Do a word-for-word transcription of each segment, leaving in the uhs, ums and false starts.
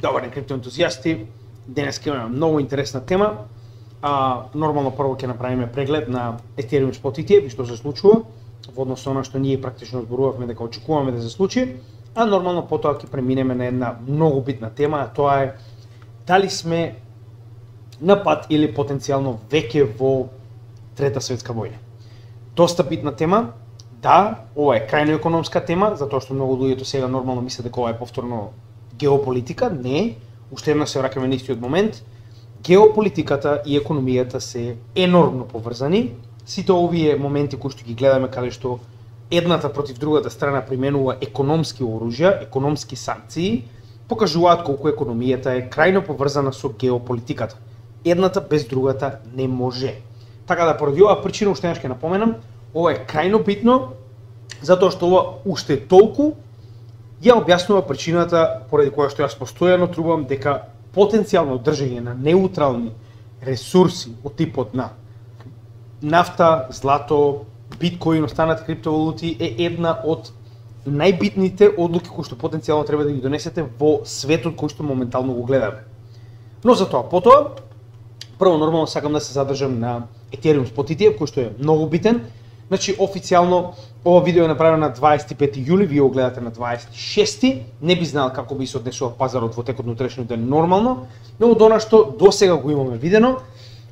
Добар, криптоентузијасти, денес ќе имаме многу интересна тема. А, нормално прво ќе направиме преглед на Ethereum Spot и ти еф и што се случува во однос на она што ние практично зборувавме дека очекуваме да се случи, а нормално потоа ќе преминеме на една многу битна тема, а тоа е дали сме на пат или потенцијално веќе во Трета светска војна. Доста битна тема. Да, ова е крајно економска тема, затоа што многу луѓето сега нормално мислат дека ова е повторно геополитика. Не, уште една се враќаме на истиот момент. Геополитиката и економијата се енормно поврзани. Сите овие моменти кои што ги гледаме каде што едната против другата страна применува економски оружја, економски санкции, покажуваат колку економијата е крајно поврзана со геополитиката. Едната без другата не може. Така да поради оваа причина уште еднаш ќе напоменам, ова е крајно битно, затоа што ова уште толку ја објаснува причината поради која што јас постојано трубам дека потенцијално држење на неутрални ресурси од типот на нафта, злато, биткоин, останати криптовалути е една од најбитните одлуки кои што потенцијално треба да ги донесете во светот кој што моментално го гледаме. Но за тоа потоа, прво нормално сакам да се задржам на Ethereum Spot и ти еф кој што е многу битен. Значи официјално ова видео е направено на дваесет и пети јули, вие го гледате на дваесет и шести. Не би знаел како би се однесува пазарот во текот на утрешниот ден нормално, но од она што досега го имаме видено,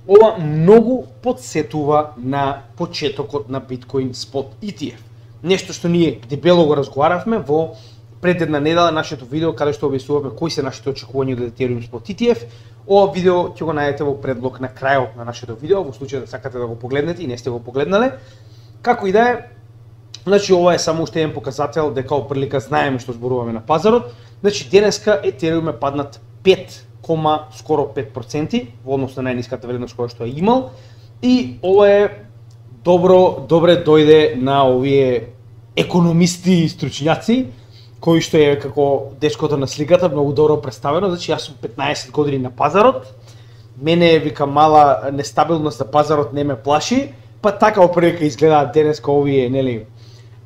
ова многу подсетува на почетокот на Bitcoin Spot и ти еф. Нешто што ние дебело го разговаравме во пред една недела нашето видео каде што објаснуваме кои се нашите очекувања од Ethereum Spot и ти еф. Ова видео ќе го најдете во предлог на крајот на нашето видео, во случај да сакате да го погледнете и не сте го погледнале. Како и да е, значи ова е само уште еден показател дека опрлика знаеме што зборуваме на пазарот. Значи денеска Ethereum е паднат пет, скоро пет проценти во однос на најниската вредност која што е имал, и ова е добро добре дојде на овие економисти и стручњаци кои што е како дечкото на сликата многу добро представено. Значи јас сум петнаесет години на пазарот. Мене вика мала нестабилност на пазарот не ме плаши. Па така опрека изгледаат денеска овие, нели,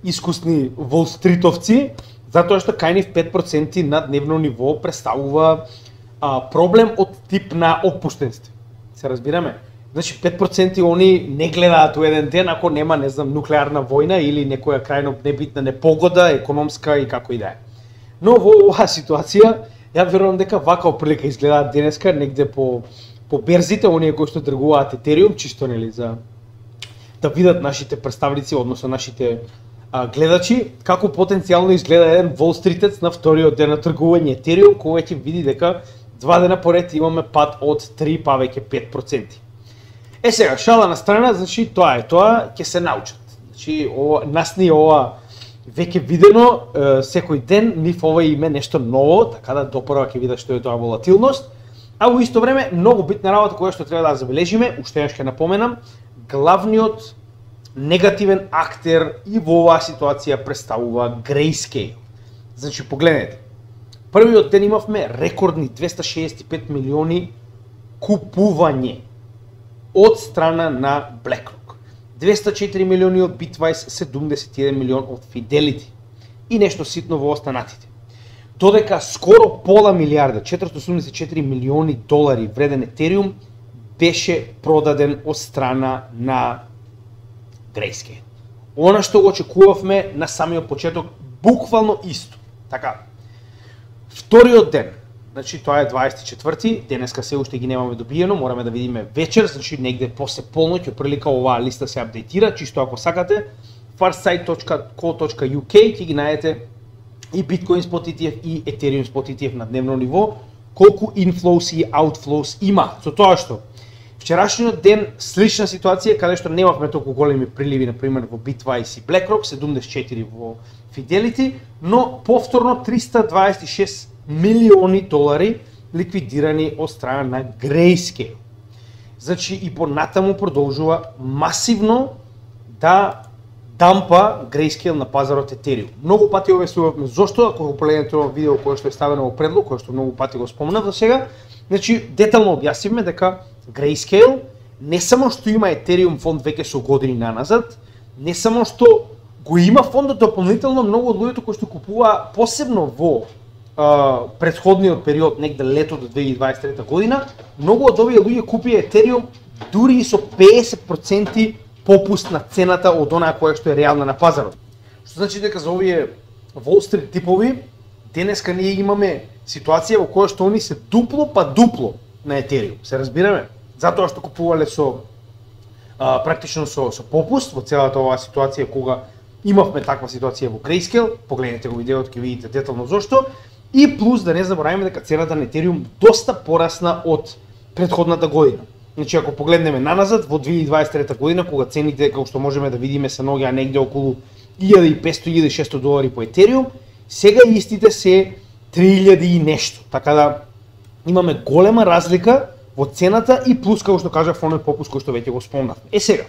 искусни волстритовци, затоа што кај нив пет проценти на дневно ниво представува а, проблем од тип на опуштенство. Се разбираме? Значи пет проценти они не гледаат у еден ден ако нема, не знам, нуклеарна војна или некоја крајно небитна непогода, економска и како и да е. Но во оваа ситуација, ја верувам дека вака оприлика изгледаат денеска негде по по берзите, оние кои што тргуваат Ethereum, чисто нели за да видат нашите представници, односно нашите а, гледачи, како потенцијално изгледа еден волстритец на вториот ден на тргување Ethereum, кој ќе види дека два дена поред имаме пад од три па веќе пет проценти. Е сега, шала на страна, значи тоа е тоа, ќе се научат. Значи ова, нас ни ова веќе видено е, секој ден, нив ова име нешто ново, така да допрва ќе видат што е тоа волатилност. А во исто време многу битна работа која што треба да забележиме, уште еднаш ќе напоменам, главниот негативен актер и во оваа ситуација представува Grayscale. Значи погледнете. Првиот ден имавме рекордни двеста шеесет и пет милиони купување од страна на BlackRock. двеста и четири милиони од Bitwise, седумдесет и еден милион од Fidelity и нешто ситно во останатите. Додека скоро пола милиарда, четиристотини осумдесет и четири милиони долари вреден Ethereum беше продаден од страна на Grayscale. Она што го очекувавме на самиот почеток, буквално исто. Така. Вториот ден, значи тоа е дваесет и четврти, денеска се уште ги немаме добиено, мораме да видиме вечер, значи негде после полноќ прилика оваа листа се апдейтира, чисто ако сакате, farsight точка co точка uk ќе ги најдете и Bitcoin Spot и ти еф и Ethereum Spot и ти еф на дневно ниво, колку inflows и outflows има. Со тоа што вчерашниот ден слична ситуација каде што немавме толку големи приливи на пример во Bitwise и BlackRock, седумдесет и четири во Fidelity, но повторно триста дваесет и шест милиони долари ликвидирани од страна на Grayscale. Значи и понатаму продолжува масивно да дампа Grayscale на пазарот Ethereum. Многу пати објаснувавме зошто, ако го погледнете ова видео кое што е ставено во предлог, кое што многу пати го спомнав до сега, значи детално објаснивме дека Grayscale не само што има Ethereum фонд веќе со години наназад, не само што го има фондот дополнително, многу од луѓето кои што купува посебно во uh, претходниот период, негде лето до две илјади дваесет и трета година, многу од овие луѓе купија Етериум дури и со педесет проценти попуст на цената од онаа која што е реална на пазарот. Што значи дека за овие Wall Street типови денеска ние имаме ситуација во која што они се дупло па дупло на Етериум. Се разбираме? Затоа што купувале со а, практично со со попуст во целата оваа ситуација кога имавме таква ситуација во Grayscale, погледнете го видеото ќе видите детално зошто, и плюс да не забораваме дека цената на Етериум доста порасна од претходната година. Значи ако погледнеме наназад во две илјади дваесет и трета година кога цените како што можеме да видиме се наоѓаа негде околу илјада и петстотини до илјада и шестоста долари по Етериум, сега истите се три илјади и нешто. Така да имаме голема разлика во цената и плюс како што кажав оној попуст кој што веќе го спомнав. Е сега,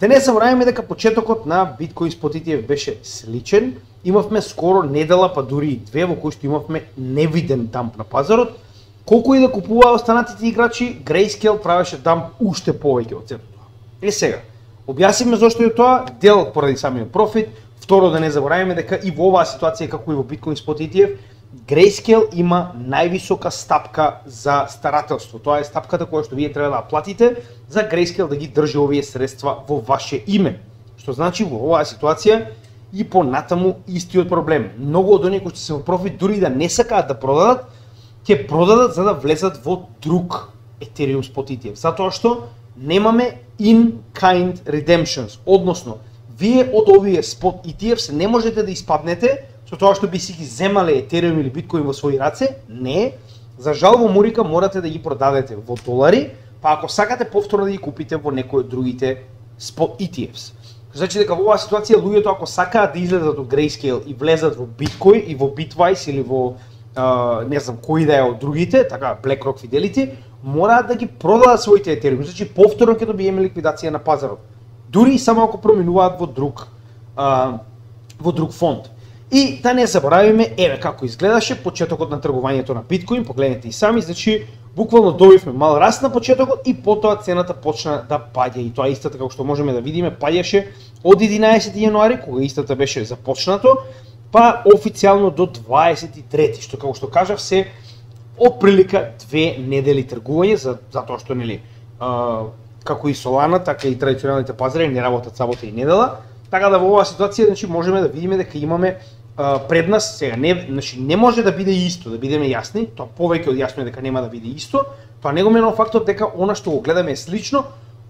да не забораваме дека почетокот на Bitcoin Spot и ти еф беше сличен. Имавме скоро недела па дури и две во кои што имавме невиден дамп на пазарот. Колку и да купуваа останатите играчи, Grayscale правеше дамп уште повеќе од сето тоа. Е сега, објаснивме зошто е тоа, дел поради самиот профит, второ да не забораваме дека и во оваа ситуација како и во Bitcoin Spot и ти еф, Grayscale има највисока стапка за старателство. Тоа е стапката која што вие треба да платите за Grayscale да ги држи овие средства во ваше име. Што значи во оваа ситуација и понатаму истиот проблем. Многу од оние кои што се во профит дури да не сакаат да продадат, ќе продадат за да влезат во друг Ethereum Spot и ти еф. Затоа што немаме in-kind redemptions, односно вие од овие Spot и ти еф се не можете да испаднете со тоа што би си ги земале Ethereum или Bitcoin во своји раце. Не, за жал во Мурика морате да ги продадете во долари, па ако сакате повторно да ги купите во некои од другите Spot и ти ефс. Значи дека во оваа ситуација луѓето ако сакаат да излезат од Grayscale и влезат во Bitcoin и во Bitwise или во Uh, не знам кои да е од другите, така BlackRock, Fidelity, мораат да ги продадат своите Ethereum, значи повторно ќе добиеме ликвидација на пазарот. Дури и само ако променуваат во друг uh, во друг фонд. И да не заборавиме, еве како изгледаше почетокот на тргувањето на Bitcoin, погледнете и сами, значи буквално добивме мал раст на почетокот и потоа цената почна да паѓа и тоа истата како што можеме да видиме паѓаше од единаесети јануари кога истата беше започнато, па официјално до дваесет и трети, што како што кажав се отприлика две недели тргување, за затоа што нели а, како и Solana, така и традиционалните пазари не работат сабота и недела, така да во оваа ситуација значи можеме да видиме дека имаме а, пред нас сега не значи не може да биде исто, да бидеме јасни, тоа повеќе од јасно е дека нема да биде исто, тоа не го менува фактот дека она што го гледаме е слично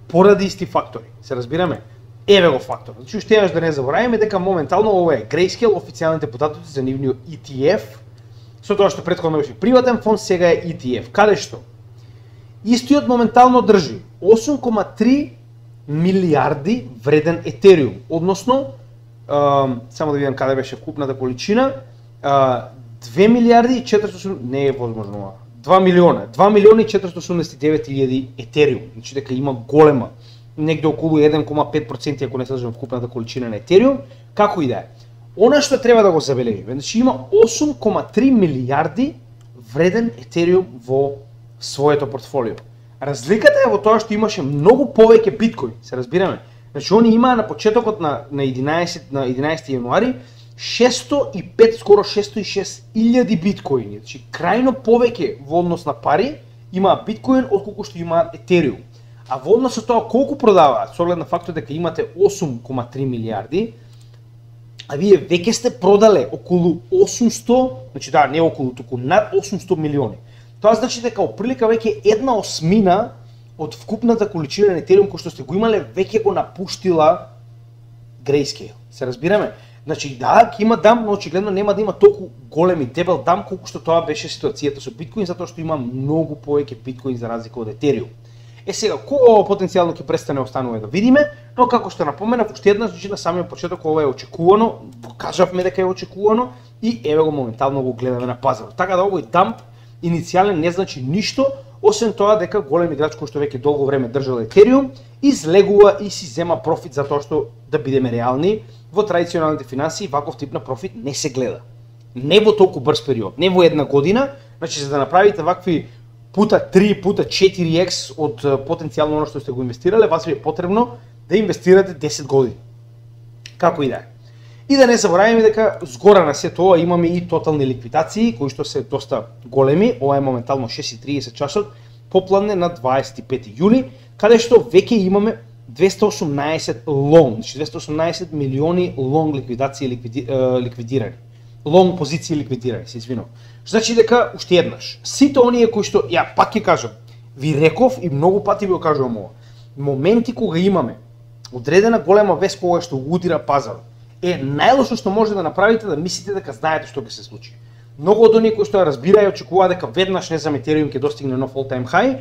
поради исти фактори. Се разбираме? Еве го фактор. Значи уште еднаш да не забораваме дека моментално ова е Grayscale, официјалните податоци за нивниот и ти еф, со тоа што претходно беше приватен фонд, сега е и ти еф. Каде што? Истиот моментално држи осум кома три милиарди вреден Етериум, односно, а, само да видам каде беше вкупната количина, а, две милиарди и четиристотини, не е возможно ова, два милиона, два милиона и четиристотини осумдесет и девет илјади Етериум, значи дека има голема, негде околу еден кома пет проценти ако не се лажам вкупната количина на Етериум, како и да е. Она што треба да го забележиме, значи има осум кома три милиарди вреден Етериум во своето портфолио. Разликата е во тоа што имаше многу повеќе биткоин, се разбираме. Значи они имаа на почетокот на на единаесети на единаесети јануари шесто и пет скоро шесто и шест илјади биткоини. Значи крајно повеќе во однос на пари имаа биткоин отколку што имаат Етериум. А во однос со тоа колку продаваат, со оглед на фактот дека имате осум кома три милиарди, а вие веќе сте продале околу осумсто, значи да, не околу, туку над осумсто милиони. Тоа значи дека оприлика веќе една осмина од вкупната количина на Ethereum кој што сте го имале веќе го напуштила Grayscale. Се разбираме? Значи да, ќе има дамп, но очигледно нема да има толку голем и дебел дамп колку што тоа беше ситуацијата со биткоин, затоа што има многу повеќе биткоин за разлика од Ethereum. Е сега, кога ова потенцијално ќе престане останува да видиме, но како што напоменав уште еднаш, значи на самиот почеток ова е очекувано, кажавме дека е очекувано и еве го моментално го гледаме на пазарот. Така да овој дамп иницијален не значи ништо, освен тоа дека голем играч кој што веќе долго време држал Ethereum излегува и си зема профит затоа што, да бидеме реални, во традиционалните финансии ваков тип на профит не се гледа. Не во толку брз период, не во една година, значи за да направите вакви пута три, пута четири екс од потенцијално оно што сте го инвестирале, вас ви е потребно да инвестирате десет години. Како и да е. И да не забораваме дека згора на се тоа имаме и тотални ликвидации кои што се доста големи. Ова е моментално шест и тридесет часот попладне на дваесет и пети јули, каде што веќе имаме двесте и осумнаесет лонг, значи двесте и осумнаесет милиони лонг ликвидации ликвиди, е, ликвидирани. Лонг позиции ликвидирани, се извинувам. Значи дека уште еднаш, сите оние кои што ја пак ќе кажам, ви реков и многу пати ви го кажувам ова. Моменти кога имаме одредена голема вест кога што удира пазарот, е најлошо што може да направите да мислите дека знаете што ќе се случи. Многу од оние кои што разбираат и очекуваат дека веднаш не знам Ethereum ќе достигне нов all-time high,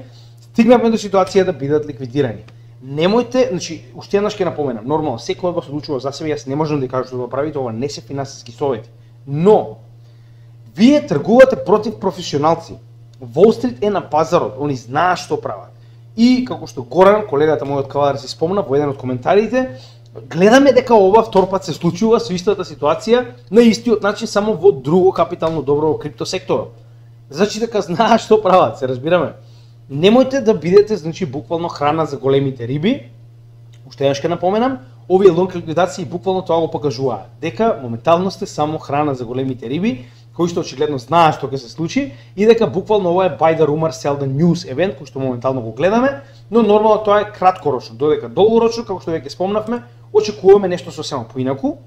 стигнавме до ситуација да бидат ликвидирани. Немојте, значи уште еднаш ќе напоменам, нормално секој од вас одлучува за себе, јас не можам да ви кажам што да правите, ова не се финансиски совети. Но вие тргувате против професионалци. Wall Street е на пазарот, они знаат што прават. И како што Горан, колегата мој од Кавадар се спомна во еден од коментарите, гледаме дека ова втор пат се случува со истата ситуација на истиот начин само во друго капитално добро во крипто секторот. Значи дека знаат што прават, се разбираме. Немојте да бидете, значи, буквално храна за големите риби. Уште еднаш ќе напоменам, овие лонг ликвидации буквално тоа го покажуваат, дека моментално сте само храна за големите риби, кои што очигледно знаат што ќе се случи и дека буквално ова е buy the rumor sell the news евент кој што моментално го гледаме, но нормално тоа е краткорочно, додека долгорочно, како што веќе спомнавме, очекуваме нешто сосема поинаку,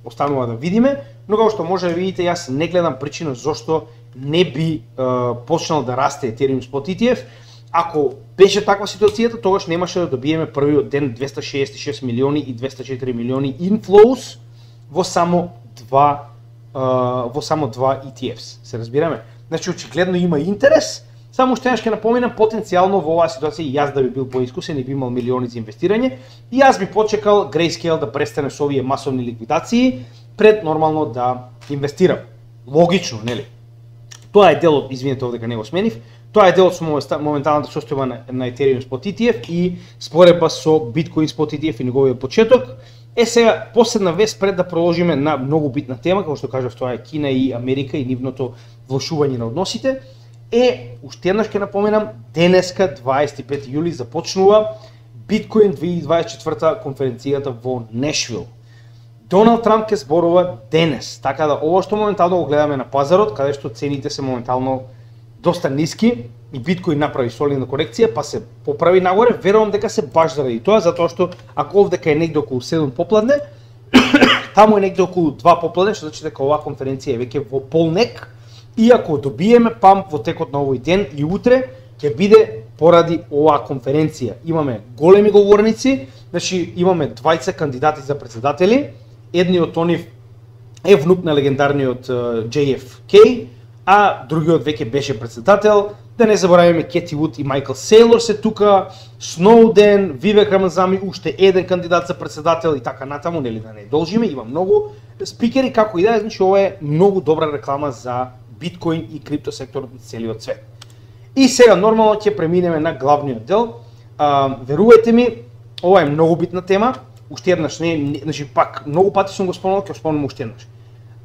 останува да видиме, но како што може да видите, јас не гледам причина зошто не би е, почнал да расте Ethereum Spot и ти еф. Ако беше таква ситуацијата, тогаш немаше да добиеме првиот ден двесте шеесет и шест милиони и двесте и четири милиони inflows во само два uh, во само два и ти ефс. Се разбираме? Значи очигледно има интерес. Само што ќе напоменам, потенцијално во оваа ситуација и јас да би бил поискусен и би имал милиони за инвестирање, и јас би почекал Grayscale да престане со овие масовни ликвидации пред нормално да инвестирам. Логично, нели? Тоа е дел од, извинете овде дека не го сменив, тоа е дел од моменталната состојба на, на Ethereum Spot и ти еф и споредба со Bitcoin Spot и ти еф и неговиот почеток. Е сега, последна вест пред да продолжиме на многу битна тема, како што кажав, тоа е Кина и Америка и нивното влошување на односите, е, уште еднаш ќе напоменам, денеска, дваесет и пети јули, започнува Bitcoin две илјади дваесет и четврта конференцијата во Нешвил. Доналд Трамп ќе зборува денес, така да ова што моментално го гледаме на пазарот, каде што цените се моментално доста ниски и Биткоин направи солидна корекција, па се поправи нагоре, верувам дека се баш заради тоа, затоа што ако овдека е негде околу седум попладне, таму е негде околу два попладне, што значи дека оваа конференција е веќе во полнек, и ако добиеме памп во текот на овој ден и утре, ќе биде поради оваа конференција. Имаме големи говорници, значи имаме двајца кандидати за председатели, едниот од нив е внук на легендарниот Џеј Еф Кеј, а другиот веќе беше председател. Да не забораваме Кети Вуд и Майкл Сейлор се тука, Сноуден, Вивек Рамазами, уште еден кандидат за председател и така натаму, нели да не должиме, има многу спикери, како и да е, значи ова е многу добра реклама за биткоин и крипто секторот на целиот свет. И сега нормално ќе преминеме на главниот дел. А, верувајте ми, ова е многу битна тема. Уште еднаш, не, не, значи пак многу пати сум го спомнал, ќе го спомнам уште еднаш.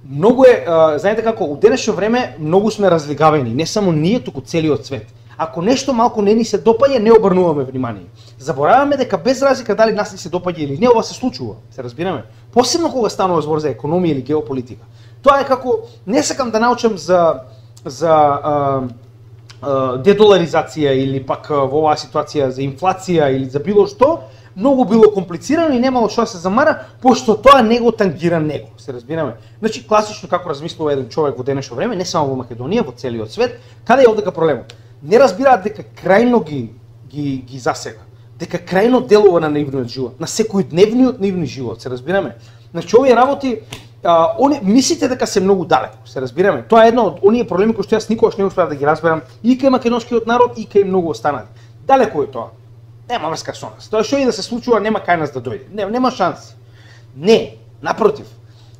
Многу е, а, знаете како, у денешно време многу сме разлигавени, не само ние, туку целиот свет. Ако нешто малку не ни се допаѓа, не обрнуваме внимание. Забораваме дека без разлика дали нас ни се допаѓа или не, ова се случува, се разбираме. Посебно кога станува збор за економија или геополитика. Тоа е како, не сакам да научам за за а, а, дедоларизација или пак во оваа ситуација за инфлација или за било што, многу било комплицирано и немало што да се замара, пошто тоа не го тангира него, се разбираме. Значи класично како размислува еден човек во денешно време, не само во Македонија, во целиот свет, каде е овдека проблемот? Не разбираат дека крајно ги ги ги засега, дека крајно делува на нивниот живот, на секојдневниот нивни живот, се разбираме. Значи овие работи, а, они мислите дека се многу далеко, се разбираме. Тоа е едно од оние проблеми кои што јас никогаш не успеав да ги разберам и кај македонскиот народ и кај многу останати. Далеко е тоа. Нема врска со нас. Тоа што и да се случува, нема кај нас да дојде. Не, нема шанси. Не, напротив.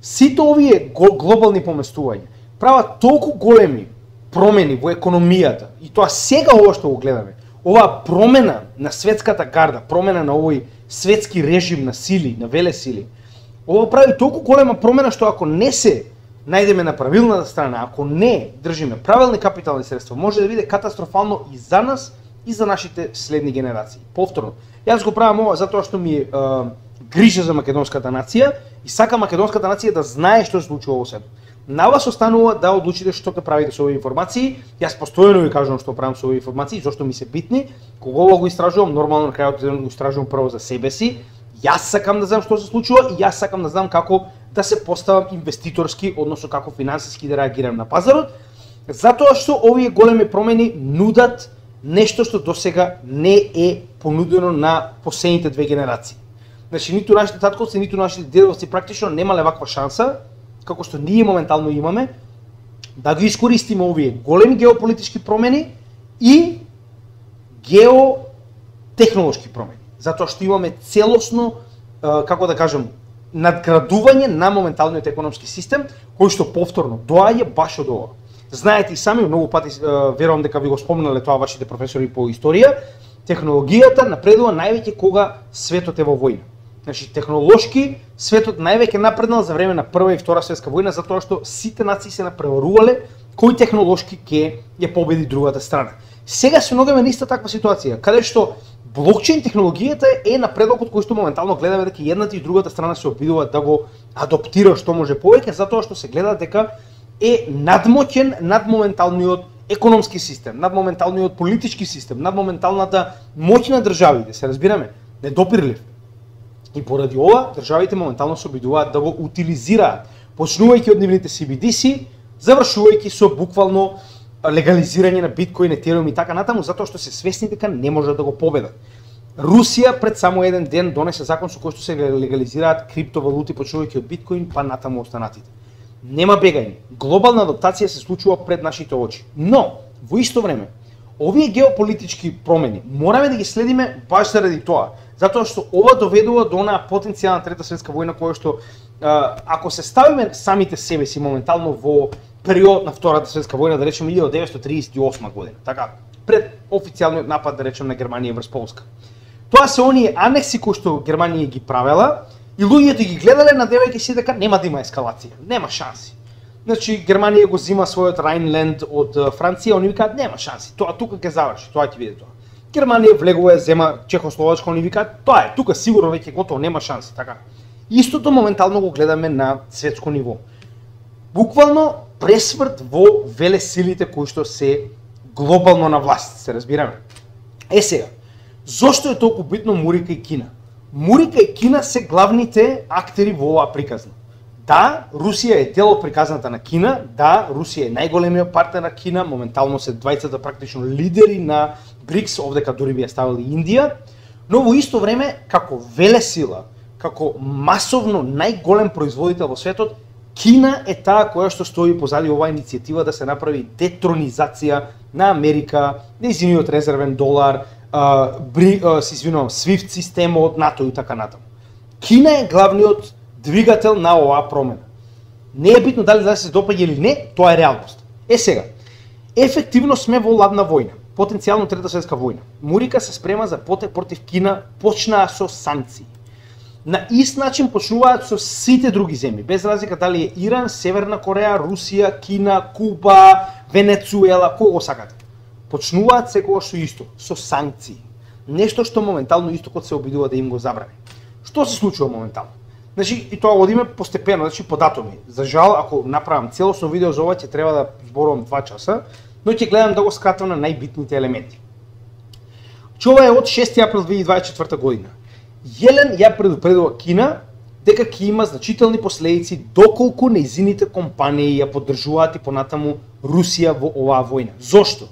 Сите овие глобални поместувања прават толку големи промени во економијата и тоа сега ова што го гледаме. Оваа промена на светската гарда, промена на овој светски режим на сили, на велесили. Ова прави толку голема промена што ако не се најдеме на правилната страна, ако не држиме правилни капитални средства, може да биде катастрофално и за нас и за нашите следни генерации. Повторно, јас го правам ова затоа што ми е грижа за македонската нација и сака македонската нација да знае што се случува во светот. На вас останува да одлучите што ќе правите со овие информации. Јас постојано ви кажувам што правам со овие информации, зашто ми се битни. Кога го истражувам, нормално на крајот го истражувам прво за себе си. Јас сакам да знам што се случува и јас сакам да знам како да се поставам инвеститорски, односно како финансиски да реагирам на пазарот, затоа што овие големи промени нудат нешто што досега не е понудено на последните две генерации. Значи, ниту нашите татковци, ниту нашите дедовци практично немале ваква шанса, како што ние моментално имаме, да ги искористиме овие големи геополитички промени и геотехнолошки промени. Затоа што имаме целосно, како да кажем, надградување на моменталниот економски систем, кој што повторно доаѓа баш од ова. Знаете и сами, многу пати верувам дека ви го спомнале тоа вашите професори по историја, технологијата напредува највеќе кога светот е во војна. Значи, технолошки светот највеќе напреднал за време на Прва и Втора светска војна, затоа што сите нации се напреварувале кој технолошки ќе ја победи другата страна. Сега се наоѓаме на иста таква ситуација, каде што блокчейн технологијата е напредокот кој што моментално гледаме дека едната и другата страна се обидуваат да го адаптира што може повеќе, затоа што се гледа дека е надмоќен над моменталниот економски систем, над моменталниот политички систем, над моменталната моќ на државите, се разбираме, недопирлив. И поради ова, државите моментално се обидуваат да го утилизираат, почнувајќи од нивните си би ди си, завршувајќи со буквално легализирање на биткоин, етериум и така натаму, затоа што се свесни дека не можат да го победат. Русија пред само еден ден донесе закон со кој што се легализираат криптовалути, почнувајќи од биткоин па натаму останатите. Нема бегање. Глобална адаптација се случува пред нашите очи. Но, во исто време, овие геополитички промени мораме да ги следиме баш заради тоа, затоа што ова доведува до онаа потенцијална трета светска војна која што ако се ставиме самите себе си моментално во период на Втората светска војна, да речеме илјадесетстотини триесет и осма година, така, пред официјалниот напад, да речеме, на Германија врз Полска. Тоа се оние анекси кои што Германија ги правела и луѓето ги гледале надевајќи се дека нема да има ескалација, нема шанси. Значи Германија го зима својот Райнленд од Франција, они викаат нема шанси, тоа тука ќе заврши, тоа ќе биде тоа. Германија влегува зема Чехословачка, они викаат тоа е, тука сигурно веќе готово, нема шанси, така. Истото моментално го гледаме на светско ниво. Буквално пресврт во велесилите кои што се глобално на власт, се разбираме. Е сега, зошто е толку битно Мурика и Кина? Мурика и Кина се главните актери во оваа приказна. Да, Русија е дел од приказната на Кина, да, Русија е најголемиот партнер на Кина, моментално се двајцата практично лидери на БРИКС, овдека дури би ја ставили Индија, но во исто време, како велесила, како масовно најголем производител во светот, Кина е таа која што стои позади оваа иницијатива да се направи детронизација на Америка, нејзиниот резервен долар, а, бри, а, си извинувам, свифт системот, НАТО и така натаму. Кина е главниот двигател на оваа промена. Не е битно дали да се допаѓа или не, тоа е реалност. Е сега, ефективно сме во ладна војна, потенцијално трета светска војна. Мурика се спрема за потек против Кина, почнаа со санкции. На ист начин почнуваат со сите други земји, без разлика дали е Иран, Северна Кореја, Русија, Кина, Куба, Венецуела, кого сакате. Почнуваат секогаш со исто, со санкции. Нешто што моментално истокот се обидува да им го забрани. Што се случува моментално? Значи, и тоа одиме постепено, значи по датуми. За жал, ако направам целосно видео за ова, ќе треба да зборувам два часа, но ќе гледам да го скратам на најбитните елементи. Че ова е од шести април две илјади дваесет и четврта година. Јелен ја предупредува Кина дека ќе има значителни последици доколку нејзините компании ја поддржуваат и понатаму Русија во оваа војна. Зошто?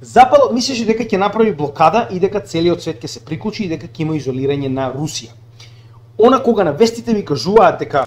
Западот мислеше дека ќе направи блокада и дека целиот свет ќе се приклучи и дека ќе има изолирање на Русија. Она кога на вестите ми кажуваат дека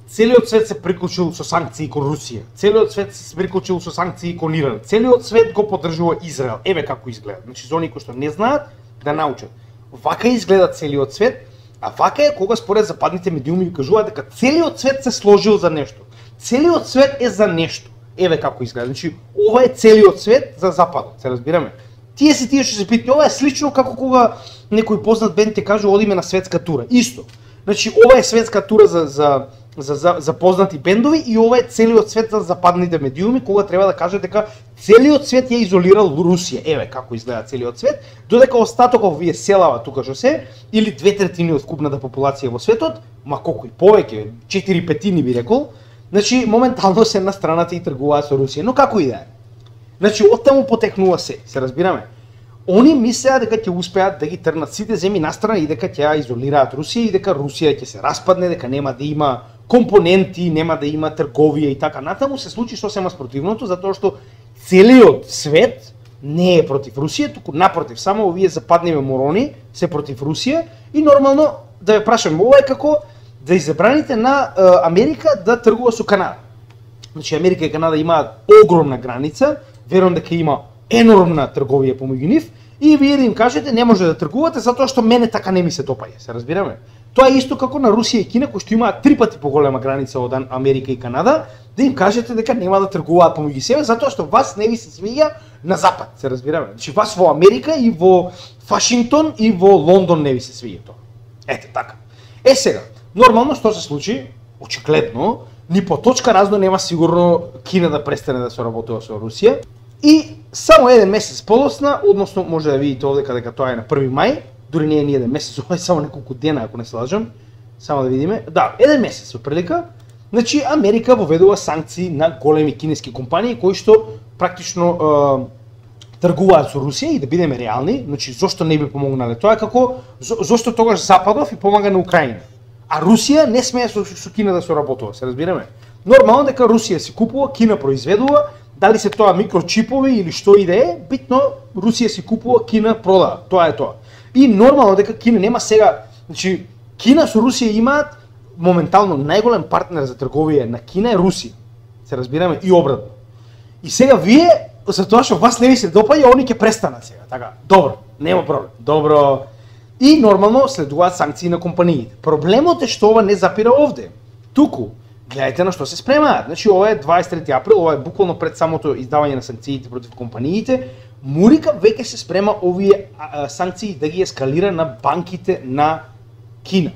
целиот свет се приклучил со санкции кон Русија, целиот свет се приклучил со санкции кон Иран, целиот свет го поддржува Израел. Еве како изгледа. Значи за оние кои што не знаат да научат. Вака изгледа целиот свет, а вака е кога според западните медиуми ви кажуваат дека целиот свет се сложил за нешто. Целиот свет е за нешто. Еве како изгледа. Значи ова е целиот свет за западот, се разбираме. Тие се тие што се питаат, ова е слично како кога некој познат бенд ти каже одиме на светска тура. Исто. Значи ова е светска тура за за за, за запознати бендови и ова е целиот свет за западните медиуми кога треба да кажат дека целиот свет ја изолирал Русија. Еве како изгледа целиот свет, додека остатоков вие селава тука што се или две третини од вкупната популација во светот, ма колку и повеќе, четири петини би рекол, значи моментално се на страната и тргуваат со Русија. Но како и да е. Значи оттаму потекнува се, се разбираме. Они мислеа дека ќе успеат да ги трнат сите земји настрана и дека ќе изолираат Русија и дека Русија ќе се распадне, дека нема да има компоненти, нема да има трговија и така натаму. Се случи сосема спротивното, затоа што целиот свет не е против Русија, туку напротив, само овие западниве морони се против Русија и нормално да ве прашам, ова е како да изабраните на е, Америка да тргува со Канада. Значи Америка и Канада имаат огромна граница, верувам дека има енормна трговија помеѓу нив и вие да им кажете не може да тргувате затоа што мене така не ми се допаѓа, се разбираме? Тоа е исто како на Русија и Кина кои што имаат три пати поголема граница од Америка и Канада, да им кажете дека нема да тргуваат помеѓу себе затоа што вас не ви се свиѓа на запад, се разбираме? Значи вас во Америка и во Вашингтон и во Лондон не ви се свиѓа тоа. Ете така. Е сега, нормално што се случи? Очигледно, ни по точка разно нема сигурно Кина да престане да соработува со Русија. И само еден месец подоцна, односно може да видите овдека дека тоа е на први мај, дури не е ни еден месец, ова е само неколку дена ако не се лажам. Само да видиме. Да, еден месец прилика. Значи Америка воведува санкции на големи кинески компании кои што практично е, тргуваат со Русија и да бидеме реални, значи зошто не би помогнале? Тоа е како зошто тогаш Западов и помага на Украина. А Русија не смее со, со Кина да соработува, се разбираме? Нормално дека Русија си купува, Кина произведува, дали се тоа микрочипови или што и да е, битно Русија си купува, Кина продава. Тоа е тоа. И нормално дека Кина нема сега, значи Кина со Русија имаат моментално најголем партнер за трговија на Кина е Русија. Се разбираме и обратно. И сега вие за тоа што вас не ви се допаѓа, они ќе престанат сега. Така, добро, нема проблем. Добро. И нормално следуваат санкции на компаниите. Проблемот е што ова не запира овде. Туку гледајте на што се спремаат. Значи ова е дваесет и трети април, ова е буквално пред самото издавање на санкциите против компаниите. Мурика веќе се спрема овие а, санкции да ги ескалира на банките на Кина.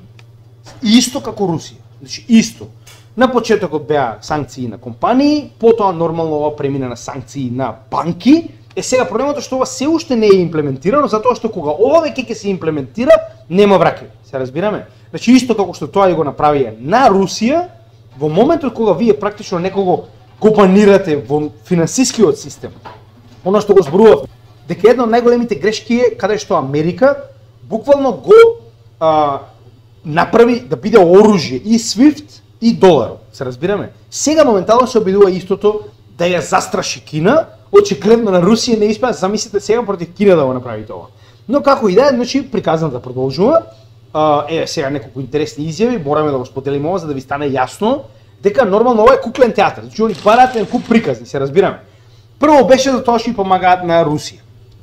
Исто како Русија. Значи исто. На почетокот беа санкции на компании, потоа нормално ова премина на санкции на банки. Е сега проблемот е што ова се уште не е имплементирано, затоа што кога ова веќе ќе се имплементира, нема враќање. Се разбираме? Значи исто како што тоа и го направија на Русија, во моментот кога вие практично некого го банирате во финансискиот систем, оно што го зборував, дека една од најголемите грешки е каде што Америка буквално го а, направи да биде оружје и свифт и долар. Се разбираме? Сега моментално се обидува истото да ја застраши Кина, очигледно на Русија не испеа, замислите сега против Кина да го направи тоа. Но како и да е, значи приказната продолжува. Uh, е, сега неколку интересни изјави, мораме да го споделиме ова за да ви стане јасно дека нормално ова е куклен театар. Значи они бараат еден куп приказни, се разбираме. Прво беше за тоа што и помагаат на Русија.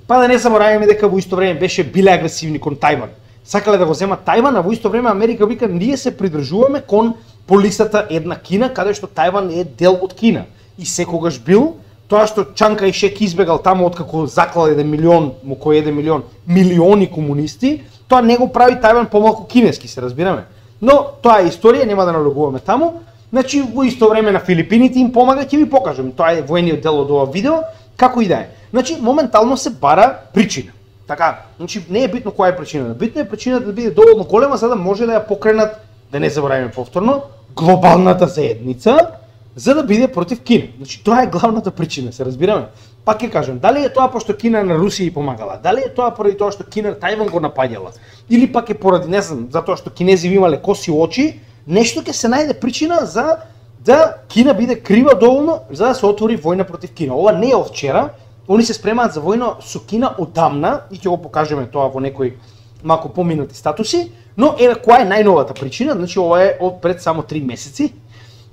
Па да не забораваме дека во исто време беше биле агресивни кон Тајван. Сакале да го земат Тајван, а во исто време Америка вика ние се придржуваме кон полисата една Кина, каде што Тајван е дел од Кина. И секогаш бил тоа што Чанка и Шек избегал таму откако заклал еден милион, му кој еден милион, милиони комунисти, тоа не го прави Тајван помалку кинески, се разбираме. Но тоа е историја, нема да налогуваме таму. Значи во исто време на Филипините им помага, ќе ви покажам. Тоа е воениот дел од ова видео, како и да е. Значи моментално се бара причина. Така, значи не е битно која е причината. Битно е причината да биде доволно голема за да може да ја покренат, да не забораваме повторно, глобалната заедница за да биде против Кина. Значи тоа е главната причина, се разбираме. Пак ќе кажам, дали е тоа пошто Кина на Русија и помагала, дали е тоа поради тоа што Кина Тајван го напаѓала, или пак е поради не знам, затоа што кинези имале коси очи, нешто ќе се најде причина за да Кина биде крива доволно за да се отвори војна против Кина. Ова не е од вчера, они се спремаат за војна со Кина одамна и ќе го покажеме тоа во некои малку поминати статуси, но еве која е најновата причина, значи ова е од пред само три месеци.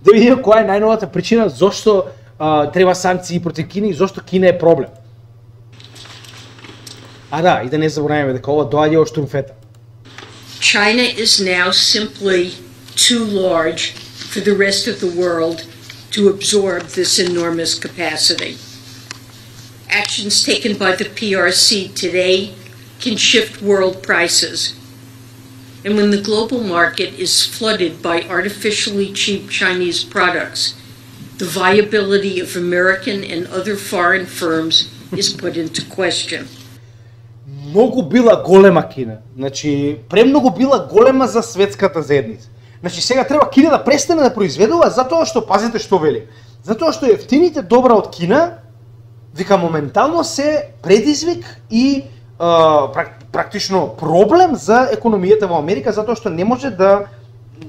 Да видиме која е најновата причина зошто uh, треба санкции против Кина и зошто Кина е проблем. А да, и да не забораваме дека ова доаѓа од штурмфета. China is now simply too large for the rest of the world to absorb this enormous capacity. Actions taken by the P R C today can shift world prices. And when the global market is flooded by artificially cheap Chinese products, the viability of American and other foreign firms is put into question. Многу била голема Кина. Значи, премногу била голема за светската заедница. Значи, сега треба Кина да престане да произведува затоа што, пазете што вели, затоа што ефтините добра од Кина, вика, моментално се предизвик и а, практично проблем за економијата во Америка, затоа што не може да,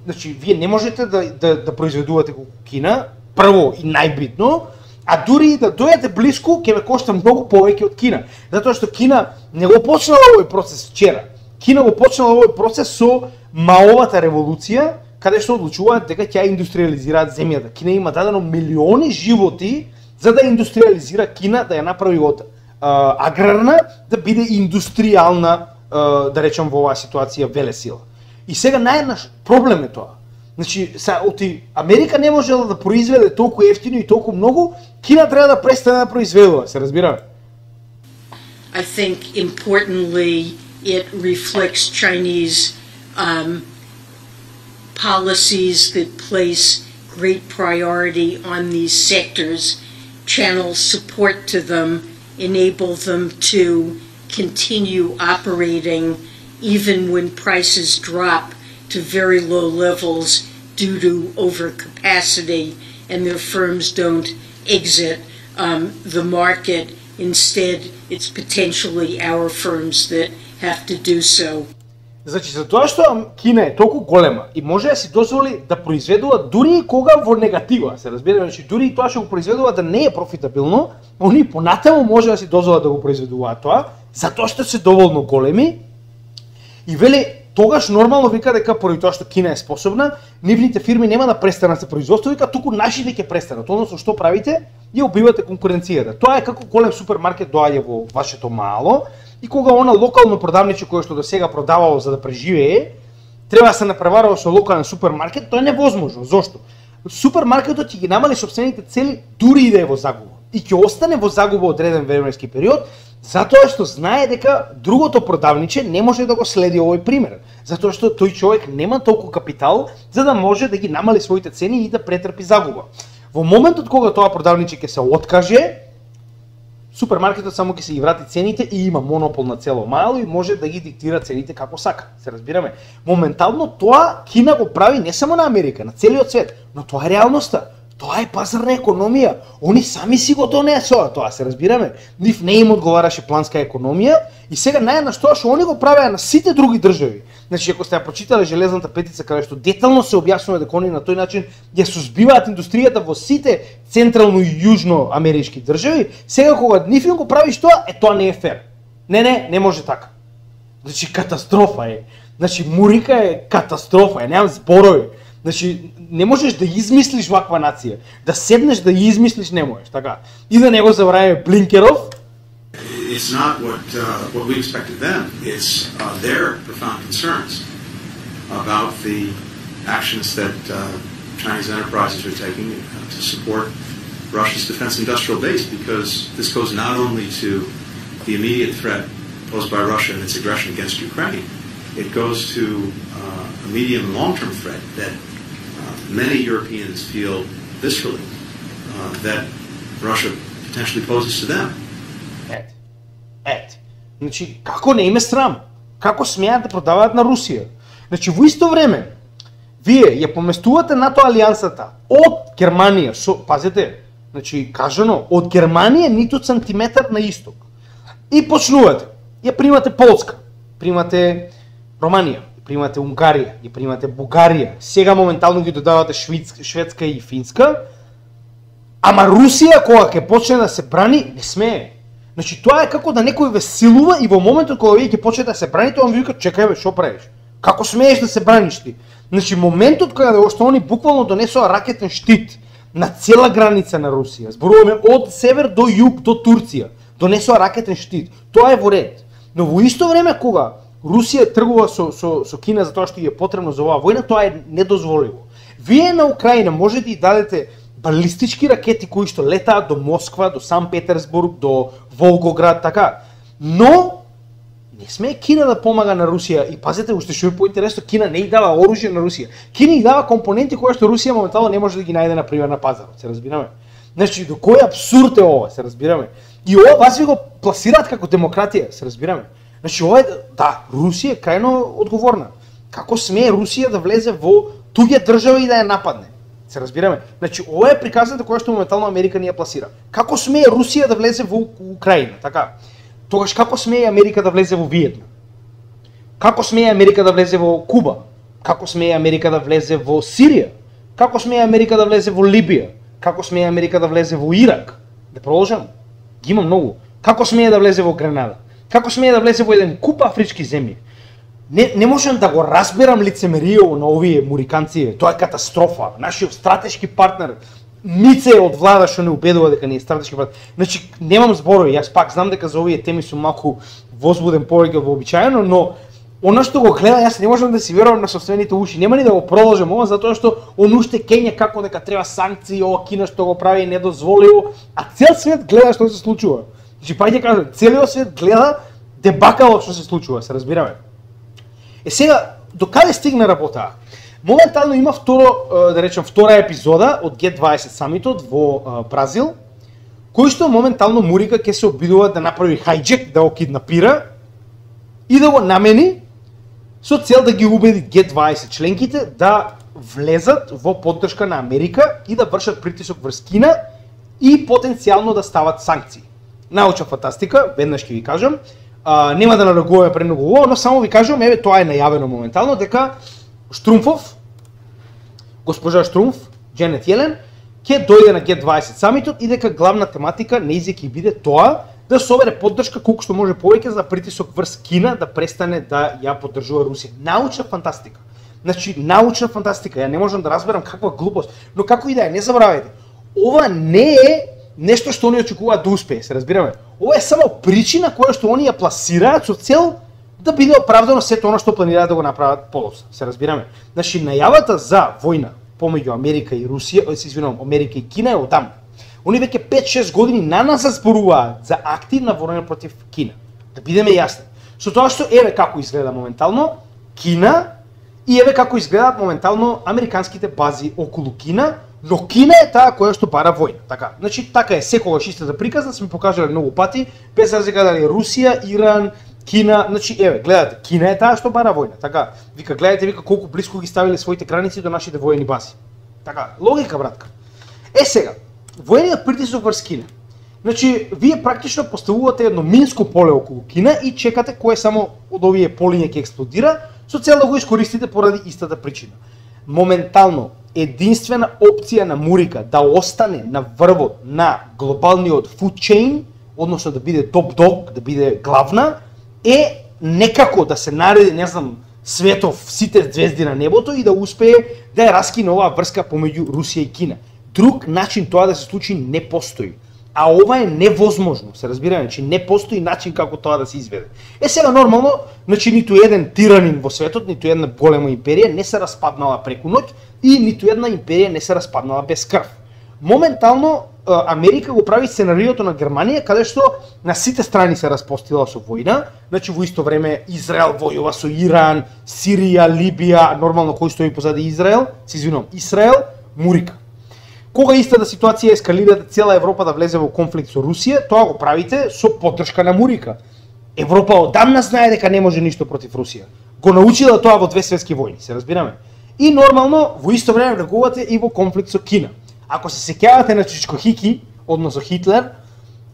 значи, вие не можете да, да, да произведувате колку Кина, прво и најбитно, а дури и да дојдете блиску, ќе ве кошта многу повеќе од Кина. Затоа што Кина не го почнала овој процес вчера. Кина го почнала овој процес со Маовата револуција, каде што одлучуваат дека ќе индустриализираат земјата. Кина има дадено милиони животи за да индустриализира Кина, да ја направи од а, аграрна, да биде индустријална, а, да речем во оваа ситуација, велесила. И сега најнаш проблем е тоа. Значи, са, оти Америка не можела да произведе толку ефтино и толку многу, Кина треба да престане да произведува, се разбира? I think importantly it reflects Chinese um, policies that place great priority on these sectors, channel support to them, enable them to continue operating even when prices drop to very low levels due to overcapacity and their firms don't exit um, the market. Instead, it's potentially our firms that have to do so. Значи, за тоа што Кина е толку голема и може да си дозволи да произведува дури и кога во негатива, се разбира, значи дури и тоа што го произведува да не е профитабилно, они понатаму може да си дозволат да го произведуваат тоа, затоа што се доволно големи. И вели, тогаш нормално вика дека поради тоа што Кина е способна, нивните фирми нема да престанат со производство, вика туку нашите ќе престанат. Односно што правите? Ја убивате конкуренцијата. Тоа е како голем супермаркет доаѓа во вашето мало и кога она локално продавниче кое што до сега продавало за да преживее, треба да се напреварува со локален супермаркет, тоа е невозможно. Зошто? Супермаркетот ќе ги намали сопствените цели дури и да е во загуба. И ќе остане во загуба одреден временски период, затоа што знае дека другото продавниче не може да го следи овој пример. Затоа што тој човек нема толку капитал за да може да ги намали своите цени и да претрпи загуба. Во моментот кога тоа продавниче ќе се откаже, супермаркетот само ќе се ги врати цените и има монопол на цело мало и може да ги диктира цените како сака. Се разбираме. Моментално тоа Кина го прави не само на Америка, на целиот свет, но тоа е реалноста. Тоа е пазарна економија. Они сами си го донесоа тоа, се разбираме. Нив не им одговараше планска економија и сега најнаш тоа што они го правеа на сите други држави. Значи, ако сте ја прочитале Железната петица, каде што детално се објаснува дека они на тој начин ја сузбиваат индустријата во сите централно и јужно амерички држави, сега кога нив им го правиш тоа, е тоа не е фер. Не, не, не може така. Значи, катастрофа е. Значи, Мурика е катастрофа, е, немам зборови. Значи, не можеш да измислиш ваква нација. Да седнеш да ја измислиш не можеш, така. И да не го забравиме Блинкеров. It's not what uh, what we expected them. It's uh, their profound concerns about the actions that uh, Chinese enterprises are taking uh, to support Russia's defense industrial base, because this goes not only to the immediate threat posed by Russia and its aggression against Ukraine, it goes to uh, a medium and long-term threat that many Europeans feel viscerally uh, that Russia potentially poses to them. Ет, ет. Значи, како не им е срам? Како смеат да продаваат на Русија? Значи, во исто време, вие ја поместувате НАТО алијансата од Германија, со, пазете, значи, кажано, од Германија ниту сантиметар на исток. И почнувате, ја примате Полска, примате Романија, примате Унгарија, и примате Бугарија, сега моментално ги додавате Шведска, Шведска и Финска, ама Русија кога ќе почне да се брани, не смее. Значи тоа е како да некој ве силува и во моментот кога вие ќе почнете да се браните, он ви вика чекај бе, што правиш? Како смееш да се браниш ти? Значи моментот кога што они буквално донесоа ракетен штит на цела граница на Русија, зборуваме од север до југ до Турција, донесоа ракетен штит. Тоа е во ред. Но во исто време кога Русија тргува со, со, со Кина за тоа што ја е потребно за оваа војна, тоа е недозволиво. Вие на Украина можете и дадете балистички ракети кои што летаат до Москва, до Сан Петерсбург, до Волгоград, така. Но Не смее Кина да помага на Русија и пазете уште што е поинтересно, Кина не и дава оружје на Русија. Кина и дава компоненти кои што Русија моментално не може да ги најде на пример на пазарот, се разбираме. Значи до кој апсурд е ова, се разбираме. И ова вас ви го пласираат како демократија, се разбираме. Значи ова е да, Русија е крајно одговорна. Како смее Русија да влезе во туѓа држава и да ја нападне? Се разбираме. Значи ова е приказната која што моментално Америка ни ја пласира. Како смее Русија да влезе во Украина, така? Тогаш како смее Америка да влезе во Виетнам? Како смее Америка да влезе во Куба? Како смее Америка да влезе во Сирија? Како смее Америка да влезе во Либија? Како смее Америка да влезе во Ирак? Да продолжам. Ги има многу. Како смее да влезе во Гренада? Како смее да влезе во еден куп афрички земји? Не, не можам да го разберам лицемеријето на овие муриканци. Тоа е катастрофа. Нашиот стратешки партнер Мице од влада што не убедува дека не е стратешки партнер. Значи немам зборови, јас пак знам дека за овие теми сум малку возбуден повеќе од вообичаено, но она што го гледа, јас не можам да си верувам на собствените уши. Нема ни да го продолжам ова затоа што он уште кење како дека треба санкции, ова Кина што го прави недозволиво, а цел свет гледа што се случува. Значи паѓа кажам, целиот свет гледа дебакалот што се случува, се разбираме. Е сега, до каде стигна работа? Моментално има второ, да речем, втора епизода од Г дваесет самитот во Бразил, кој што моментално Мурика ќе се обидува да направи хајџек, да го киднапира и да го намени со цел да ги убеди Г дваесет членките да влезат во поддршка на Америка и да вршат притисок врз Кина и потенцијално да стават санкции. Научна фантастика, веднаш ќе ви кажам, а, нема да нарегуваме премногу ово, но само ви кажам, еве тоа е најавено моментално дека Штрумфов, госпожа Штрумф, Дженет Јелен, ќе дојде на Г дваесет самитот и дека главна тематика нејзе ќе биде тоа да собере поддршка колку што може повеќе за притисок врз Кина да престане да ја поддржува Русија. Научна фантастика. Значи, научна фантастика. Ја не можам да разберам каква глупост, но како и да е, не забравајте. Ова не е нешто што они очекуваат да успее, се разбираме. Ова е само причина која што они ја пласираат со цел да биде оправдано сето она што планираат да го направат подоцна, се разбираме. Значи, најавата за војна помеѓу Америка и Русија, се извинувам, Америка и Кина е одамна. Они веќе пет-шест години на нас зборуваат за активна војна против Кина. Да бидеме јасни. Со тоа што еве како изгледа моментално Кина и еве како изгледаат моментално американските бази околу Кина, но Кина е таа која што бара војна. Така, значи така е секогаш истата приказна, сме покажале многу пати, без разлика дали Русија, Иран, Кина, значи еве, гледате, Кина е таа што бара војна. Така, вика гледате, вика колку блиску ги ставиле своите граници до нашите воени бази. Така, логика братка. Е сега, воениот притисок врз Кина. Значи, вие практично поставувате едно минско поле околу Кина и чекате кој само од овие полиња ќе експлодира, со цел да го искористите поради истата причина. Моментално, единствена опција на Мурика да остане на врвот на глобалниот food chain, односно да биде топ дог, да биде главна, е некако да се нареди, не знам, светов, сите звезди на небото и да успее да ја раскине оваа врска помеѓу Русија и Кина. Друг начин тоа да се случи не постои. А ова е невозможно, се разбираме, че не постои начин како тоа да се изведе. Е сега нормално, значи ниту еден тиранин во светот, ниту една голема империја не се распаднала преку ноќ и ниту една империја не се распаднала без крв. Моментално Америка го прави сценариото на Германија, каде што на сите страни се распостила со војна, значи во исто време Израел војува со Иран, Сирија, Либија, нормално кој стои позади Израел, се извинувам, Израел, Мурика. Кога истата ситуација ескалира цела Европа да влезе во конфликт со Русија, тоа го правите со поддршка на Мурика. Европа одамна знае дека не може ништо против Русија. Го научила тоа во две светски војни, се разбираме. И нормално во исто време влегувате и во конфликт со Кина. Ако се сеќавате на Чичкохики, односно Хитлер,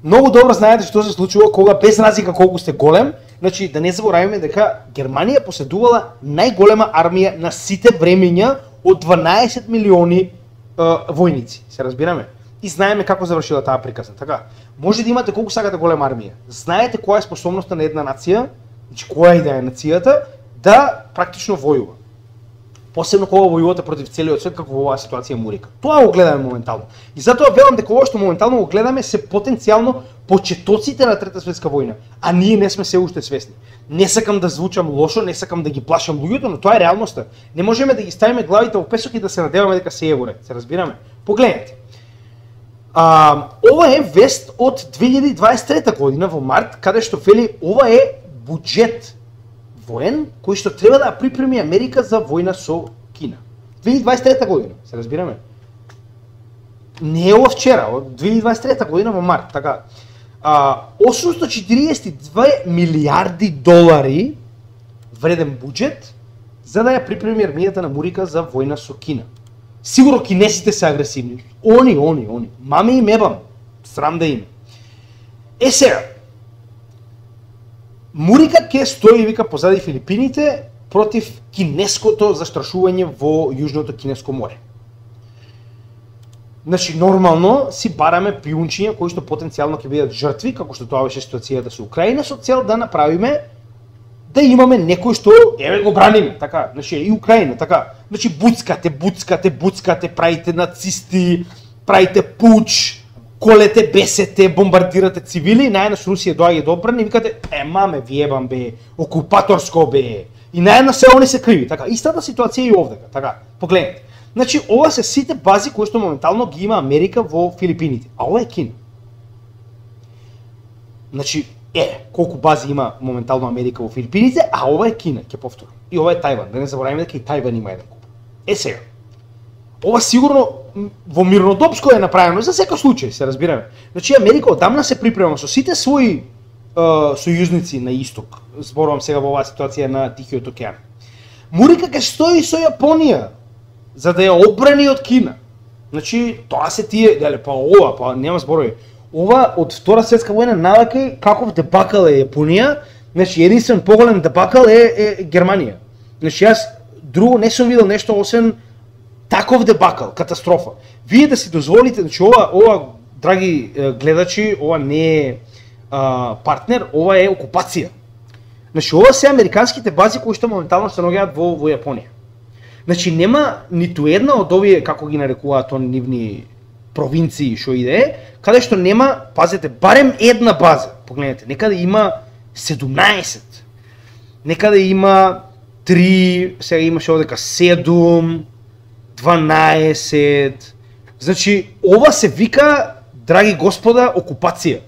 многу добро знаете што се случува кога без разлика колку сте голем, значи да не забораваме дека Германија поседувала најголема армија на сите времења од дванаесет милиони војници, се разбираме. И знаеме како завршила таа приказна. Така, може да имате колку сакате голема армија. Знаете која е способноста на една нација, значи која и да е нацијата, да практично војува. Посебно кога војувате против целиот свет, како во оваа ситуација Мурика. Тоа го гледаме моментално. И затоа велам дека ова што моментално го гледаме се потенцијално почетоците на Трета светска војна, а ние не сме се уште свесни. Не сакам да звучам лошо, не сакам да ги плашам луѓето, но тоа е реалноста. Не можеме да ги ставиме главите во песок и да се надеваме дека се е во ред. Се разбираме? Погледнете. А, ова е вест од две илјади дваесет и трета година во март, каде што вели ова е буџет воен кој што треба да припреми Америка за војна со Кина. две илјади дваесет и трета година, се разбираме. Не е ова вчера, од две илјади дваесет и трета година во март, така. А, осумстотини и четириесет и две милијарди долари вреден буџет за да ја припреми армијата на Америка за војна со Кина. Сигурно кинесите се агресивни. Они, они, они. Маме и мебам. Срам да им. Е сега, Мурика ќе стои, вика, позади Филипините против кинеското застрашување во Јужното Кинеско море. Значи, нормално си бараме пиунчиња кои што потенцијално ќе бидат жртви, како што тоа беше ситуацијата со Украина, со цел да направиме да имаме некој што еве го браниме, така, значи и Украина, така. Значи буцкате, буцкате, буцкате, правите нацисти, правите пуч, колете, бесете, бомбардирате цивили, најнаш Русија доаѓа до одбрана и викате, е маме, ви ебам бе, окупаторско бе. И најнаш се они се криви, така. Истата ситуација и овде, така. Погледнете. Значи ова се сите бази кои што моментално ги има Америка во Филипините, а ова е Кина. Значи е, колку бази има моментално Америка во Филипините, а ова е Кина, ќе повторам. И ова е Тајван, да не забораваме дека и Тајван има еден куп. Е сега, ова сигурно во Мирнодопско е направено за секој случај, се разбираме. Значи Америка одамна се припрема со сите своји е, сојузници на исток. Зборувам сега во оваа ситуација на Тихиот океан. Мурика ќе стои со Јапонија за да ја одбрани од Кина. Значи тоа се тие, деле па ова, па нема зборови. Ова од Втора светска војна навака каков дебакал е Јапонија, значи единствен поголем дебакал е, е Германија. Значи јас друго не сум видел нешто освен таков дебакал, катастрофа. Вие да си дозволите, значи ова, ова драги гледачи, ова не е а, партнер, ова е окупација. Значи ова се американските бази кои што моментално се наоѓаат во, во Јапонија. Значи нема ниту една од овие, како ги нарекуваат они нивни провинции што иде, каде што нема, пазете, барем една база. Погледнете, некаде има седумнаесет. Некаде има три, сега имаше овдека седум, дванаесет. Значи ова се вика, драги господа, окупација.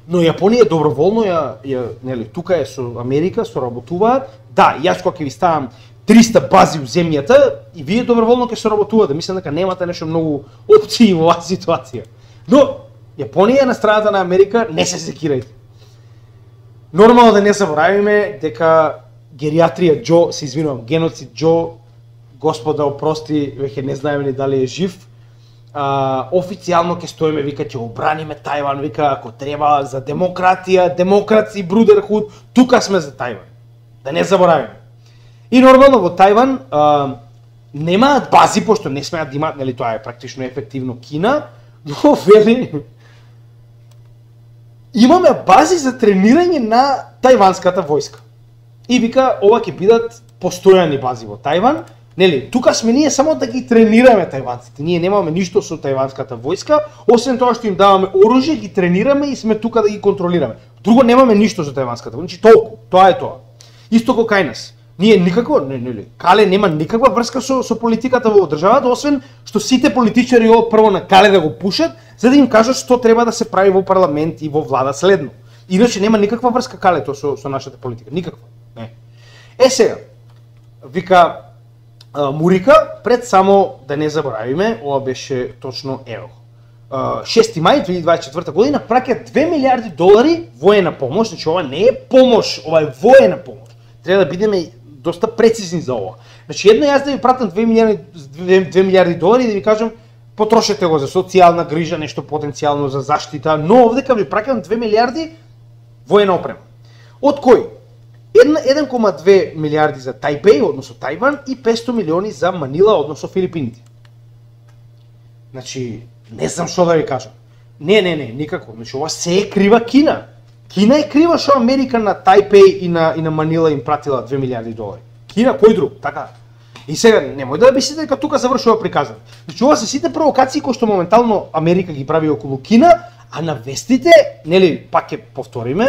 Но Јапонија доброволно ја, ја нели, тука е со Америка, соработуваат. Да, јас кога ќе ви ставам триста бази у земјата и вие доброволно ќе соработувате. Мислам дека немате нешто многу опции во оваа ситуација. Но Јапонија на страната на Америка, не се секирајте. Нормално да не заборавиме дека гериатрија Џо, се извинувам, геноцид Џо, господа опрости, веќе не знаеме ни дали е жив. А, официјално ќе стоиме, вика, ќе обраниме Тајван, вика, ако треба за демократија, демокраци, брудерхуд, тука сме за Тајван. Да не заборавиме. И нормално во Тајван а, немаат бази, пошто не смеат да имаат, нели тоа е практично ефективно Кина, но вели имаме бази за тренирање на тајванската војска. И вика, ова ќе бидат постојани бази во Тајван. Нели, тука сме ние само да ги тренираме тајванците. Ние немаме ништо со тајванската војска, освен тоа што им даваме оружје, ги тренираме и сме тука да ги контролираме. Друго немаме ништо со тајванската војска. Значи толку, тоа е тоа. Исто како кај нас. Ние никако, не, нели, Кале нема никаква врска со, со политиката во државата, освен што сите политичари од прво на Кале да го пушат, за да им кажат што треба да се прави во парламент и во влада следно. Иначе нема никаква врска Калето со, со нашата политика, никаква. Не. Е сега, вика а, Мурика, пред само да не заборавиме, ова беше точно ево. шести мај две илјади дваесет и четврта година праќа две милијарди долари воена помош, значи ова не е помош, ова е воена помош. Треба да бидеме доста прецизни за ова. Значи едно јас да ви пратам две милијарди долари и да ви кажам потрошете го за социјална грижа, нешто потенцијално за заштита, но овдека ви праќам две милијарди воена опрема. Од кој? еден кома две милијарди за Тајпеј, односно Тајван, и петсто милиони за Манила, односно Филипините. Значи, не знам што да ви кажам. Не, не, не, никако. Значи, ова се е крива Кина. Кина е крива што Америка на Тајпеј и на, и на Манила им пратила две милијарди долари. Кина, кој друг? Така. И сега, немој да мислите дека тука завршува приказан. Значи, ова се сите провокации кои што моментално Америка ги прави околу Кина, а на вестите, нели, пак ќе повториме,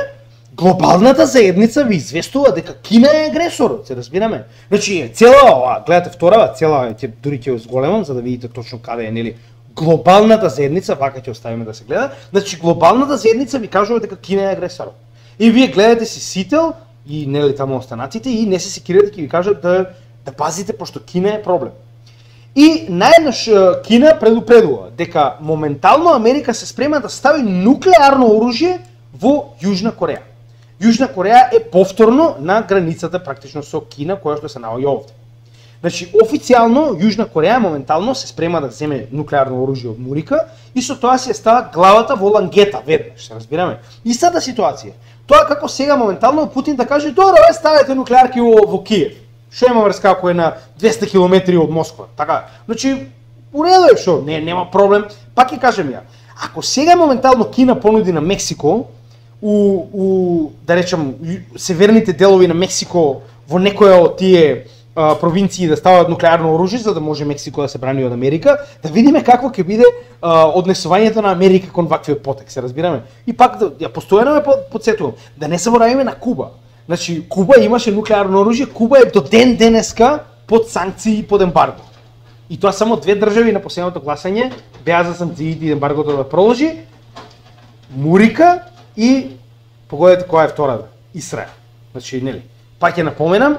глобалната заедница ви известува дека Кина е агресор, се разбираме. Значи, цела ова, гледате вторава, цела, ќе дури ќе зголемам за да видите точно каде е, нели, глобалната заедница, вака ќе оставиме да се гледа. Значи, глобалната заедница ви кажува дека Кина е агресор. И вие гледате си сител и нели таму останатите и не се секирате ќе ви кажат да да пазите пошто Кина е проблем. И најнаш Кина предупредува дека моментално Америка се спрема да стави нуклеарно оружје во Јужна Кореја. Јужна Кореја е повторно на границата практично со Кина, која што се наоѓа овде. Значи, официјално Јужна Кореја моментално се спрема да земе нуклеарно оружје од Мурика и со тоа се става главата во лангета веднаш, се разбираме. Истата ситуација. Тоа како сега моментално Путин да каже: "Добро, ве ставете нуклеарки во, во Киев." Што има врска ако е на двесте километри од Москва, така? Значи, уредо е што, не нема проблем. Пак ќе кажем ја. Ако сега моментално Кина понуди на Мексико у, у да речем северните делови на Мексико во некоја од тие а, провинции да стават нуклеарно оружје за да може Мексико да се брани од Америка, да видиме какво ќе биде а, однесувањето на Америка кон ваквиот потек, се разбираме. И пак да ја постојано ме подсетувам да не заборавиме на Куба. Значи, Куба имаше нуклеарно оружје, Куба е до ден денеска под санкции и под ембарго. И тоа само две држави на последното гласање беа за санкциите и ембаргото да продолжи. Мурика и погодете која е втората, Израел. Значи, нели, пак ќе напоменам,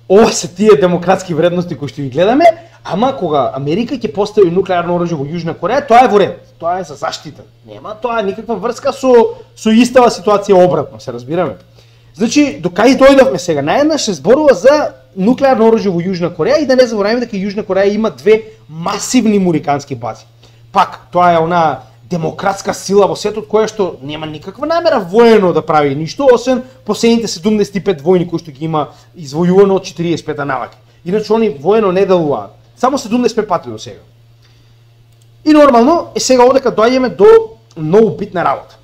ова се тие демократски вредности кои што ги гледаме, ама кога Америка ќе постави нуклеарно оружје во Јужна Кореја, тоа е во ред. Тоа е за заштита. Нема тоа никаква врска со со истава ситуација обратно, се разбираме. Значи, до кај дојдовме сега? Наједнаш се зборува за нуклеарно оружје во Јужна Кореја и да не забораваме дека Јужна Кореја има две масивни мурикански бази. Пак, тоа е она демократска сила во светот која што нема никаква намера воено да прави ништо, освен последните седумдесет и пет војни кои што ги има извојувано од четириесет и пета наваки. Иначе они воено не делуваат. Само седумдесет и пет пати до сега. И нормално е сега одека доаѓаме до многу битна работа.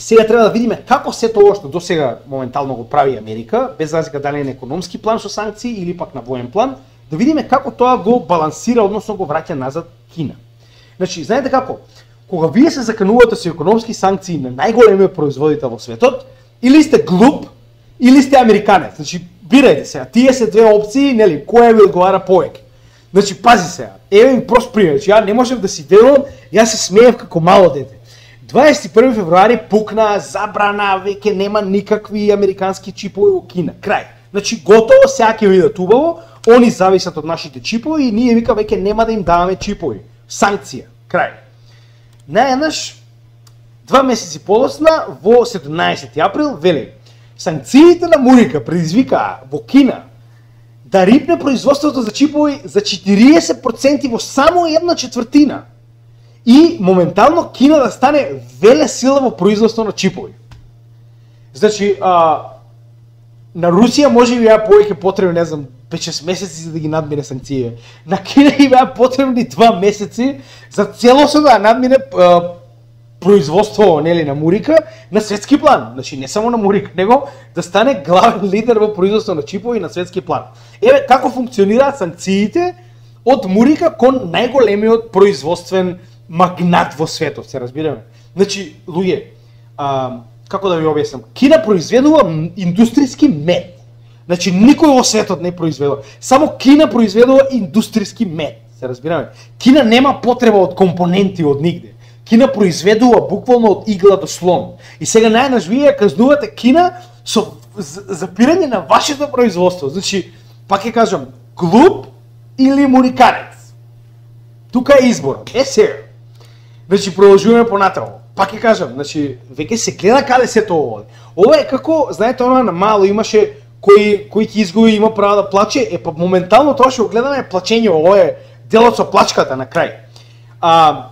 Сега треба да видиме како се тоа што досега моментално го прави Америка, без разлика дали е на економски план со санкции или пак на воен план, да видиме како тоа го балансира, односно го враќа назад Кина. Значи, знаете како? Кога вие се заканувате со економски санкции на најголемиот производител во светот, или сте глуп, или сте американец. Значи, бирајте сега, тие се две опции, нели, која ви одговара повеќе. Значи, пази сега, еве ми прост пример, значи, ја не можев да си верувам, јас се смеев како мало дете. дваесет и први февруари пукна, забрана, веќе нема никакви американски чипови во Кина. Крај. Значи, готово, сега ќе видат убаво, они зависат од нашите чипови и ние вика веќе нема да им даваме чипови. Санкција. Крај. Наједнаш, два месеци подоцна, во седумнаесети април, вели, санкциите на Мурика предизвикаа во Кина да рипне производството за чипови за четириесет проценти во само една четвртина. И моментално Кина да стане веле сила во производство на чипови. Значи, а, на Русија може би беа повеќе потребни, не знам, пет-шест месеци за да ги надмине санкциите. На Кина и беа потребни два месеци за целосно да надмине а, производство, нели, на Мурика на светски план. Значи, не само на Мурика, него да стане главен лидер во производство на чипови на светски план. Еве како функционираат санкциите од Мурика кон најголемиот производствен магнат во светот, се разбираме. Значи, луѓе, а, како да ви објаснам, Кина произведува индустријски мед. Значи, никој во светот не произведува. Само Кина произведува индустријски мед, се разбираме. Кина нема потреба од компоненти од нигде. Кина произведува буквално од игла до слон. И сега најнаш вие казнувате Кина со запирање на вашето производство. Значи, пак ќе кажам, глуп или муриканец. Тука е изборот. Е сега. Значи, продолжуваме понатаму. Пак ќе кажам, значи, веќе се гледа каде се тоа оди. Ова е како, знаете, она на мало имаше кој кој ќе изгуби има право да плаче, е па моментално тоа што го гледаме плачење, ова е делот со плачката на крај. А,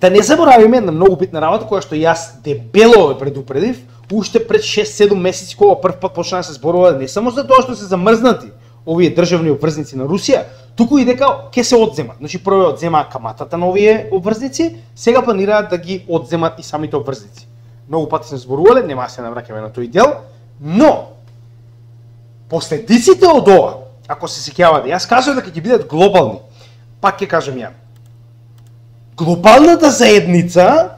да не заборавиме една многу битна работа која што јас дебело ве предупредив, уште пред шест-седум месеци кога прв пат почна да се зборува не само за тоа што се замрзнати овие државни обврзници на Русија, туку и дека ќе се одземат. Значи прво одземаа каматата на овие обврзници, сега планираат да ги одземат и самите обврзници. Многу пати сме зборувале, нема да се навраќаме на тој дел, но последиците од ова, ако се сеќавате, јас кажав дека ќе бидат глобални. Пак ќе кажам ја. Глобалната заедница,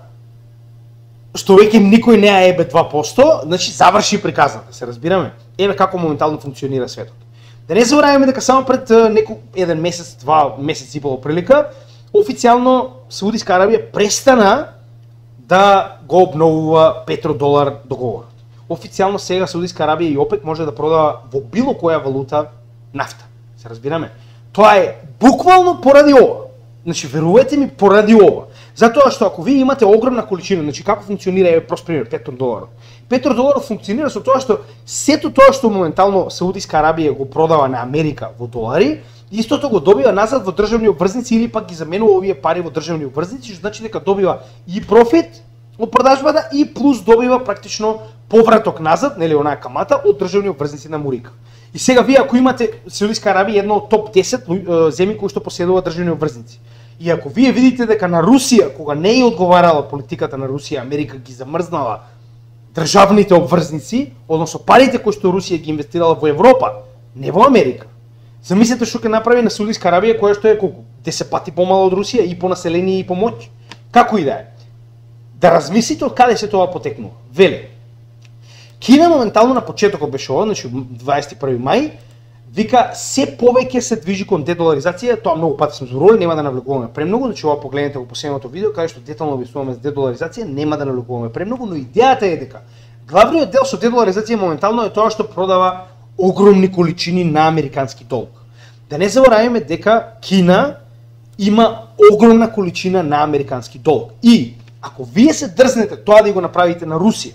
што веќе никој не е ебе два проценти, значи заврши приказната, се разбираме. Еве како моментално функционира светот. Да не забораваме дека само пред некој еден месец, два месеци и пол прилика, официјално Саудиска Арабија престана да го обновува петродолар договорот. официјално сега Саудиска Арабија и ОПЕК може да продава во било која валута нафта. Се разбираме? Тоа е буквално поради ова. Значи, верувате ми, поради ова. Затоа што ако вие имате огромна количина, значи како функционира, е прост пример, петродоларот. Петродоларот функционира со тоа што сето тоа што моментално Саудиска Арабија го продава на Америка во долари, истото го добива назад во државни обврзници или пак ги заменува овие пари во државни обврзници, што значи дека добива и профит од продажбата и плюс добива практично повраток назад, нели онаа камата од државни обврзници на Мурика. И сега вие ако имате Саудиска Арабија едно од топ десет земји кои што поседува државни обврзници. И ако вие видите дека на Русија, кога не е одговарала политиката на Русија, Америка ги замрзнала државните обврзници, односно парите кои што Русија ги инвестирала во Европа, не во Америка. Замислете што ќе направи на Саудиска Арабија, која што е колку десет пати помала од Русија и по население и по моќ. Како и да е. Да размислите од каде се тоа потекнува. Веле. Кина моментално на почетокот беше ова, значи дваесет и први мај, вика се повеќе се движи кон дедоларизација, тоа многу пати сме зборували, нема да навлекуваме премногу, значи ова погледнете во последното видео каде што детално објаснуваме за дедоларизација, нема да навлекуваме премногу, но идејата е дека главниот дел со дедоларизација моментално е тоа што продава огромни количини на американски долг. Да не забораваме дека Кина има огромна количина на американски долг. И ако вие се дрзнете тоа да го направите на Русија,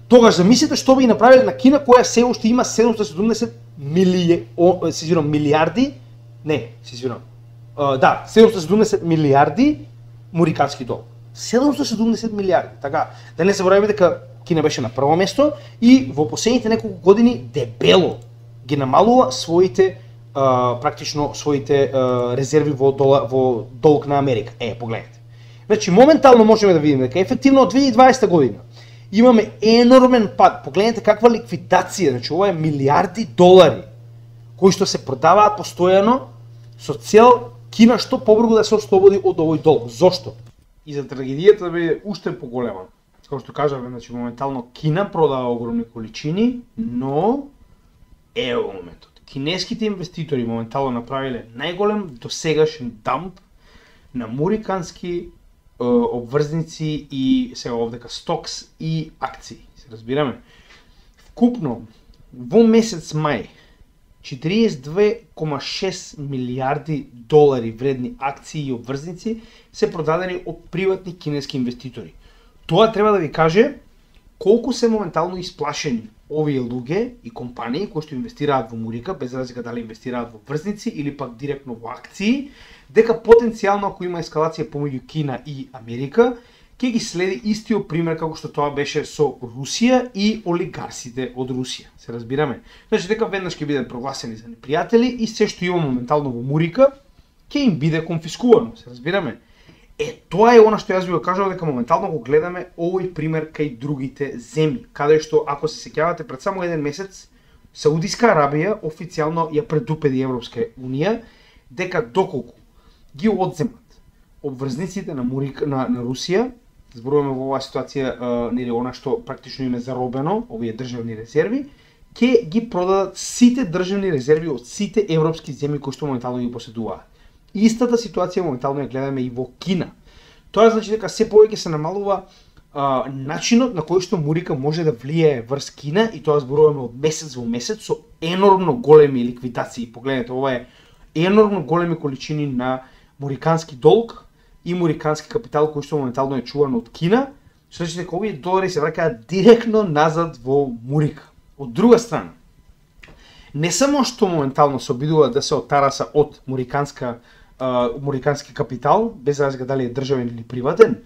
тогаш замислете што би направиле на Кина, која се уште има седумстотини и седумдесет милија, се извинувам, милиарди, не, се извинувам, да, седумстотини и седумдесет милиарди мурикански долг. седумстотини и седумдесет милиарди, така, да не забораваме дека Кина беше на прво место и во последните неколку години дебело ги намалува своите а, практично своите а, резерви во, дола, во долг на Америка. Е, погледнете. Значи моментално можеме да видиме дека ефективно од две илјади и дваесета година имаме енормен пад. Погледнете каква ликвидација, значи ова е милиарди долари кои што се продаваат постојано со цел Кина што побрзо да се ослободи од овој долг. Зошто? И за трагедијата да биде уште поголема. Како што кажавме, значи моментално Кина продава огромни количини, но ево моментот. Кинеските инвеститори моментално направиле најголем досегашен дамп на мурикански обврзници и сега овдека стокс и акции. Се разбираме. Вкупно во месец мај четириесет и две кома шест милиарди долари вредни акции и обврзници се продадени од приватни кинески инвеститори. Тоа треба да ви каже колку се моментално исплашени овие луѓе и компании кои што инвестираат во Мурика, без разлика дали инвестираат во врзници или пак директно во акции, дека потенцијално ако има ескалација помеѓу Кина и Америка, ќе ги следи истиот пример како што тоа беше со Русија и олигарсите од Русија. Се разбираме? Значи дека веднаш ќе бидат прогласени за непријатели и се што има моментално во Мурика ќе им биде конфискувано. Се разбираме? Е, тоа е она што јас ви го кажав дека моментално го гледаме овој пример кај другите земји, каде што ако се сеќавате пред само еден месец Саудиска Арабија официјално ја предупреди Европска унија дека доколку ги одземат обврзниците на Мурика на, на Русија, зборуваме во оваа ситуација нели она што практично им е заробено, овие државни резерви, ќе ги продадат сите државни резерви од сите европски земји кои што моментално ги поседуваат. Истата ситуација моментално ја гледаме и во Кина. Тоа значи дека се повеќе се намалува а, начинот на кој што Мурика може да влијае врз Кина и тоа зборуваме од месец во месец со енормно големи ликвидации. Погледнете, ова е енормно големи количини на мурикански долг и мурикански капитал кој што моментално е чуван од Кина, што значи дека овие долари се враќаат директно назад во Мурика. Од друга страна, не само што моментално се обидува да се отараса од муриканска Uh, мурикански капитал, без разлика дали е државен или приватен,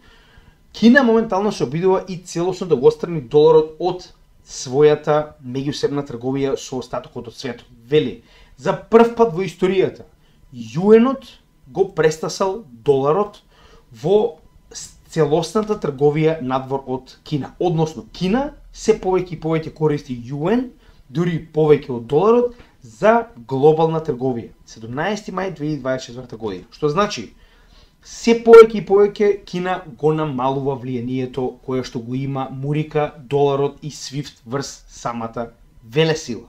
Кина моментално се обидува и целосно да го отстрани доларот од својата меѓусебна трговија со остатокот од светот. Вели, за прв пат во историјата, јуенот го престасал доларот во целосната трговија надвор од Кина. Односно, Кина се повеќе и повеќе користи јуен, дури повеќе од доларот, за глобална трговија. седумнаесети мај две илјади и дваесет и четврта година. Што значи, се повеќе и повеќе Кина го намалува влијанието кое што го има Мурика, доларот и свифт врз самата велесила.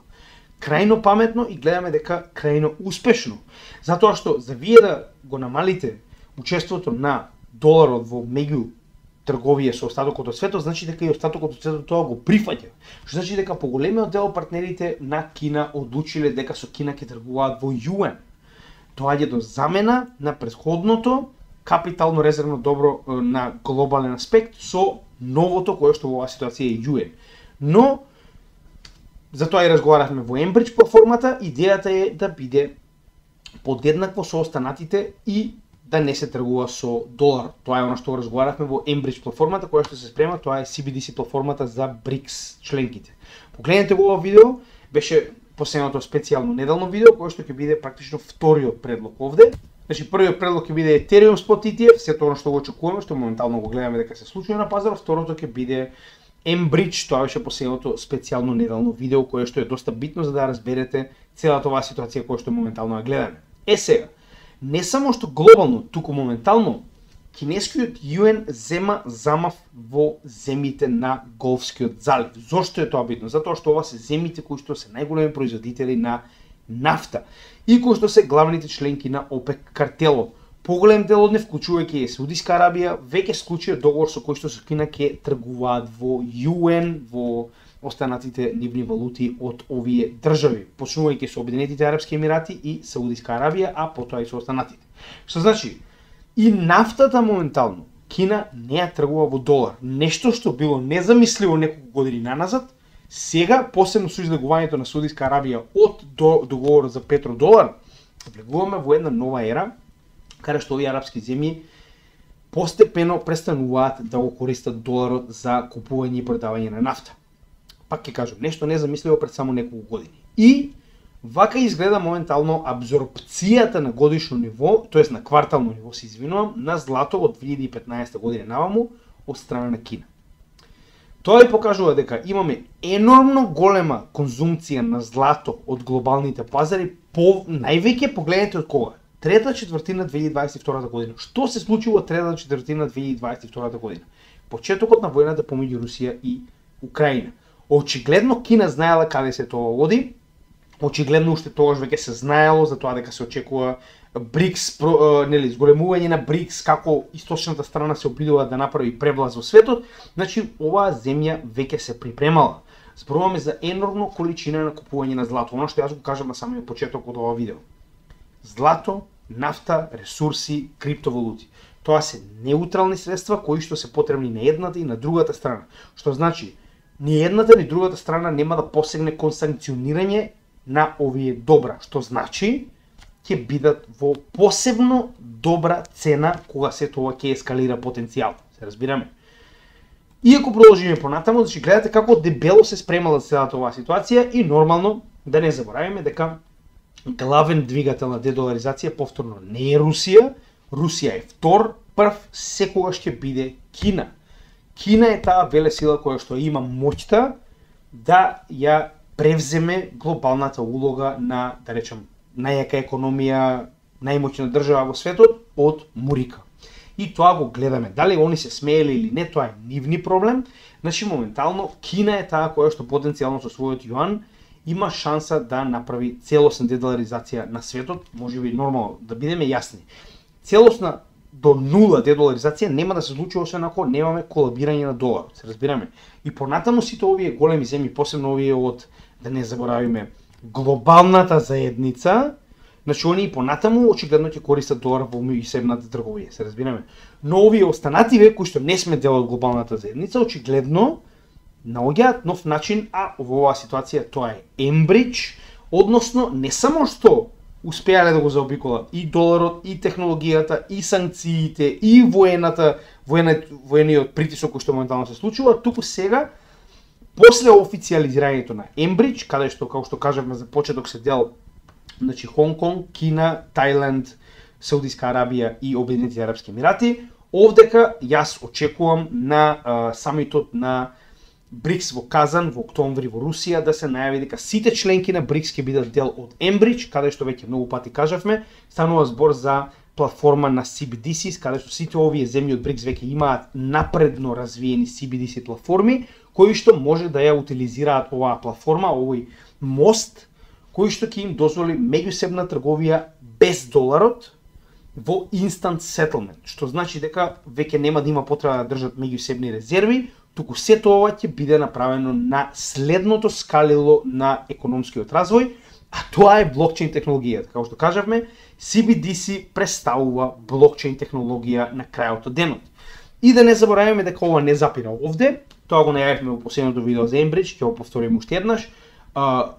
Крајно паметно и гледаме дека крајно успешно. Затоа што за вие да го намалите учеството на доларот во меѓу трговија со остатокот од светот, значи дека и остатокот од светот тоа го прифаќа. Што значи дека поголемиот дел од партнерите на Кина одлучиле дека со Кина ќе тргуваат во јуен. Доаѓа до замена на претходното капитално резервно добро на глобален аспект со новото кое што во оваа ситуација е јуен. Но затоа и разговаравме во Enbridge платформата, идејата е да биде подеднакво со останатите и да не се тргува со долар. Тоа е она што разговаравме во Enbridge платформата која што се спрема, тоа е Си Би Ди Си платформата за БРИКС членките. Погледнете во ова видео, беше последното специјално неделно видео кое што ќе биде практично вториот предлог овде. Значи првиот предлог ќе биде Ethereum Spot И Ти Еф, сето она што го очекуваме, што моментално го гледаме дека се случува на пазарот, второто ќе биде Enbridge, тоа беше последното специјално неделно видео кое што е доста битно за да разберете целата оваа ситуација која што моментално ја гледаме. Е сега, не само што глобално, туку моментално, кинескиот јуен зема замав во земјите на Голфскиот залив. Зошто е тоа битно? Затоа што ова се земјите кои што се најголеми производители на нафта и кои што се главните членки на ОПЕК картелот. Поголем дел од нив, вклучувајќи и Саудиска Арабија, веќе склучија договор со кој што со Кина ќе тргуваат во јуен, во останатите нивни валути од овие држави, почнувајќи со Обединетите Арапски Емирати и Саудиска Арабија, а потоа и со останатите. Што значи, и нафтата моментално, Кина не ја тргува во долар. Нешто што било незамисливо неколку години наназад, сега, посебно со излегувањето на Саудиска Арабија од до, договорот за петродолар, влегуваме во една нова ера, каде што овие арапски земји постепено престануваат да го користат доларот за купување и продавање на нафта. Пак ќе кажам, нешто незамисливо пред само неколку години. И вака изгледа моментално абсорбцијата на годишно ниво, тоест на квартално ниво, се извинувам, на злато од две илјади и петнаесетта година наваму од страна на Кина. Тоа и покажува дека имаме енормно голема конзумција на злато од глобалните пазари, по највеќе погледнете од кога? Трета четвртина две илјади дваесет и втора година. Што се случи во трета четвртина две илјади дваесет и втора година? Почетокот на војната помеѓу Русија и Украина. Очигледно Кина знаела каде се тоа води. Очигледно уште тогаш веќе се знаело за тоа дека се очекува БРИКС, нели, зголемување на БРИКС, како источната страна се обидува да направи превлаз во светот. Значи оваа земја веќе се припремала. Зборуваме за енормно количина на купување на злато. Оно што јас го кажам на самиот почеток од ова видео. Злато, нафта, ресурси, криптовалути. Тоа се неутрални средства кои што се потребни на едната и на другата страна. Што значи, ни едната ни другата страна нема да посегне кон санкционирање на овие добра, што значи ќе бидат во посебно добра цена кога се тоа ќе ескалира потенцијал. Се разбираме. Иако продолжиме понатаму, значи гледате како дебело се спремала целата оваа ситуација и нормално да не забораваме дека главен двигател на дедоларизација повторно не е Русија, Русија е втор, прв секогаш ќе биде Кина. Кина е таа велесила која што има моќта да ја превземе глобалната улога на, да речем, најака економија, најмоćна држава во светот од Мурика. И тоа го гледаме. Дали они се смееле или не, тоа е нивни проблем. Значи, моментално, Кина е таа која што потенцијално со својот јуан има шанса да направи целосна дедоларизација на светот, можеби нормално, да бидеме јасни. Целосна до нула дедоларизација нема да се случи освен ако немаме колабирање на доларот, се разбираме. И понатаму сите овие големи земји, посебно овие од, да не заборавиме, глобалната заедница, значи они и понатаму очигледно ќе користат долар во меѓусебната трговија, се разбираме. Но овие останативе кои што не сме дел од глобалната заедница, очигледно наоѓаат нов начин, а во оваа ситуација тоа е Enbridge, односно не само што успеале да го заобиколат и доларот, и технологијата, и санкциите, и воената, воениот притисок кој што моментално се случува, туку сега, после официализирањето на Enbridge, каде што, како што кажавме за почеток, се дел, значи Хонг Конг, Кина, Тајланд, Саудиска Арабија и Обединетите Арапски Емирати, овдека јас очекувам на а, самитот на БРИКС во Казан во октомври во Русија да се најави дека сите членки на БРИКС ќе бидат дел од Enbridge, каде што веќе многу пати кажавме, станува збор за платформа на Си Би Ди Си, каде што сите овие земји од БРИКС веќе имаат напредно развиени Си Би Ди Си платформи, кои што може да ја утилизираат оваа платформа, овој мост, кој што ќе им дозволи меѓусебна трговија без доларот, во instant settlement, што значи дека веќе нема да има потреба да држат меѓусебни резерви, туку сето ова ќе биде направено на следното скалило на економскиот развој, а тоа е блокчейн технологијата. Како што кажавме, си би ди си представува блокчейн технологија на крајот од денот. И да не забораваме дека ова не запира овде, тоа го најавивме во последното видео за Enbridge, ќе го повториме уште еднаш.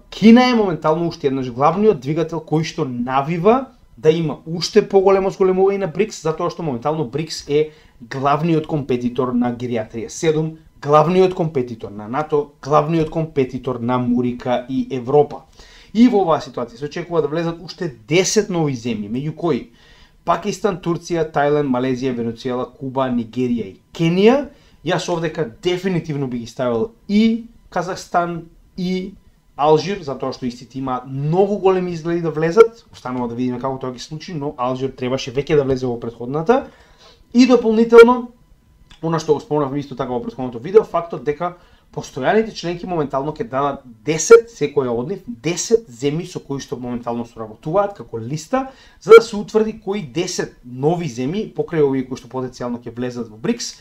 Кина е моментално уште еднаш главниот двигател кој што навива да има уште поголемо зголемување на БРИКС, затоа што моментално БРИКС е главниот компетитор на Гериатрија седум, главниот компетитор на НАТО, главниот компетитор на Мурика и Европа. И во оваа ситуација се очекува да влезат уште десет нови земји, меѓу кои Пакистан, Турција, Тајланд, Малезија, Венецуела, Куба, Нигерија и Кенија. Јас овдека дефинитивно би ги ставил и Казахстан и Алжир, затоа што истите има многу големи изгледи да влезат. Останува да видиме како тоа ги случи, но Алжир требаше веќе да влезе во претходната. И дополнително, она што го спомнавме исто така во претходното видео, фактот дека постојаните членки моментално ќе дадат десет, секоја од нив, десет земји со кои што моментално соработуваат како листа, за да се утврди кои десет нови земји, покрај овие кои што потенцијално ќе влезат во БРИКС,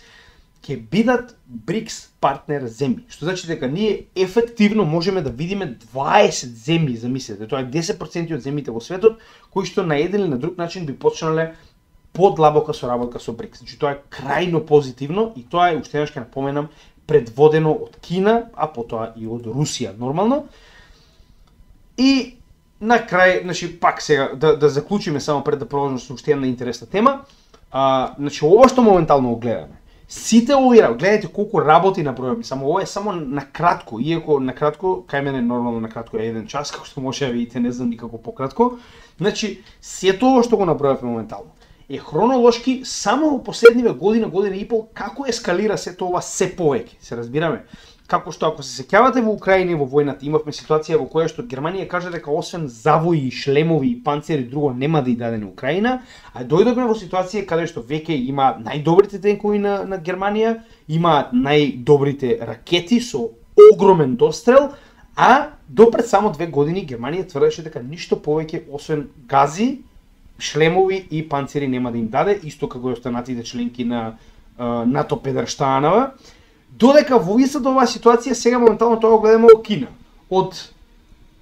ќе бидат БРИКС партнер земји. Што значи дека ние ефективно можеме да видиме дваесет земји, замислете, тоа е десет проценти од земјите во светот, кои што на еден или на друг начин би почнале подлабока соработка со БРИКС. Значи тоа е крајно позитивно и тоа е, уште еднаш ќе напоменам, предводено од Кина, а потоа и од Русија нормално. И на крај, значи пак сега да да заклучиме само пред да продолжиме со уште една интересна тема. А, значи ова што моментално го гледаме. Сите овие, гледате колку работи набројаме, само ова е само на кратко, иако на кратко, кај мене нормално на кратко е еден час, како што може да видите, не знам никако пократко. Значи сето ова што го набројавме моментално е хронолошки само во последниве година, година и пол, како ескалира сето ова се повеќе. Се разбираме? Како што ако се сеќавате во Украина и во војната, имавме ситуација во која што Германија каже дека освен завои, шлемови и панцери друго нема да и даде на Украина, а дојдовме во ситуација каде што веќе има најдобрите тенкови на, на Германија, има најдобрите ракети со огромен дострел, а до пред само две години Германија тврдеше дека ништо повеќе освен гази, шлемови и панцери нема да им даде, исто како и останатите членки на uh, НАТО Педерштанова. Додека во истата оваа ситуација сега моментално тоа го гледаме во Кина. Од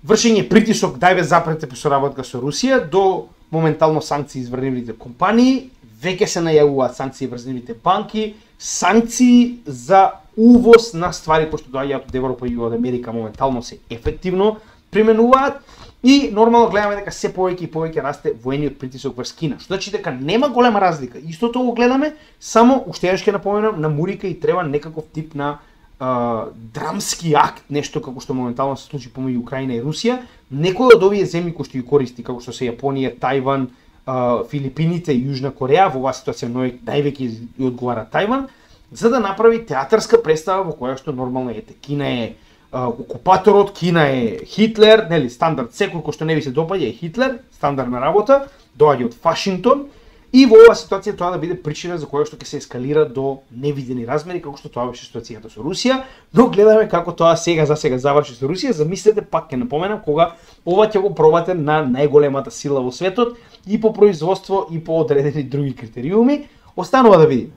вршење притисок дај бе запрете по соработка со Русија до моментално санкции изврнивите компании, веќе се најавуваат санкции врзнивите банки, санкции за увоз на ствари кои што доаѓаат од Европа и од Америка моментално се ефективно применуваат. И нормално гледаме дека се повеќе и повеќе расте воениот притисок врз Кина. Што значи дека нема голема разлика. Истото го гледаме, само уште еднаш ќе напоменам, на Мурика и треба некаков тип на а, драмски акт, нешто како што моментално се случи помеѓу Украина и Русија. Некој од овие земји кои што ги користи, како што се Јапонија, Тајван, а, Филипините и Јужна Кореја, во оваа ситуација највеќе одговара Тајван, за да направи театарска представа во која што нормално ете Кина е окупаторот, Кина е Хитлер, нели, стандард, секој кој што не ви се допаѓа е Хитлер, стандардна работа, доаѓа од Вашингтон, и во оваа ситуација тоа да биде причина за која што ќе се ескалира до невидени размери, како што тоа беше ситуацијата со Русија, но гледаме како тоа сега за сега заврши со Русија. Замислете, пак ќе напоменам, кога ова ќе го пробате на најголемата сила во светот и по производство и по одредени други критериуми, останува да видиме.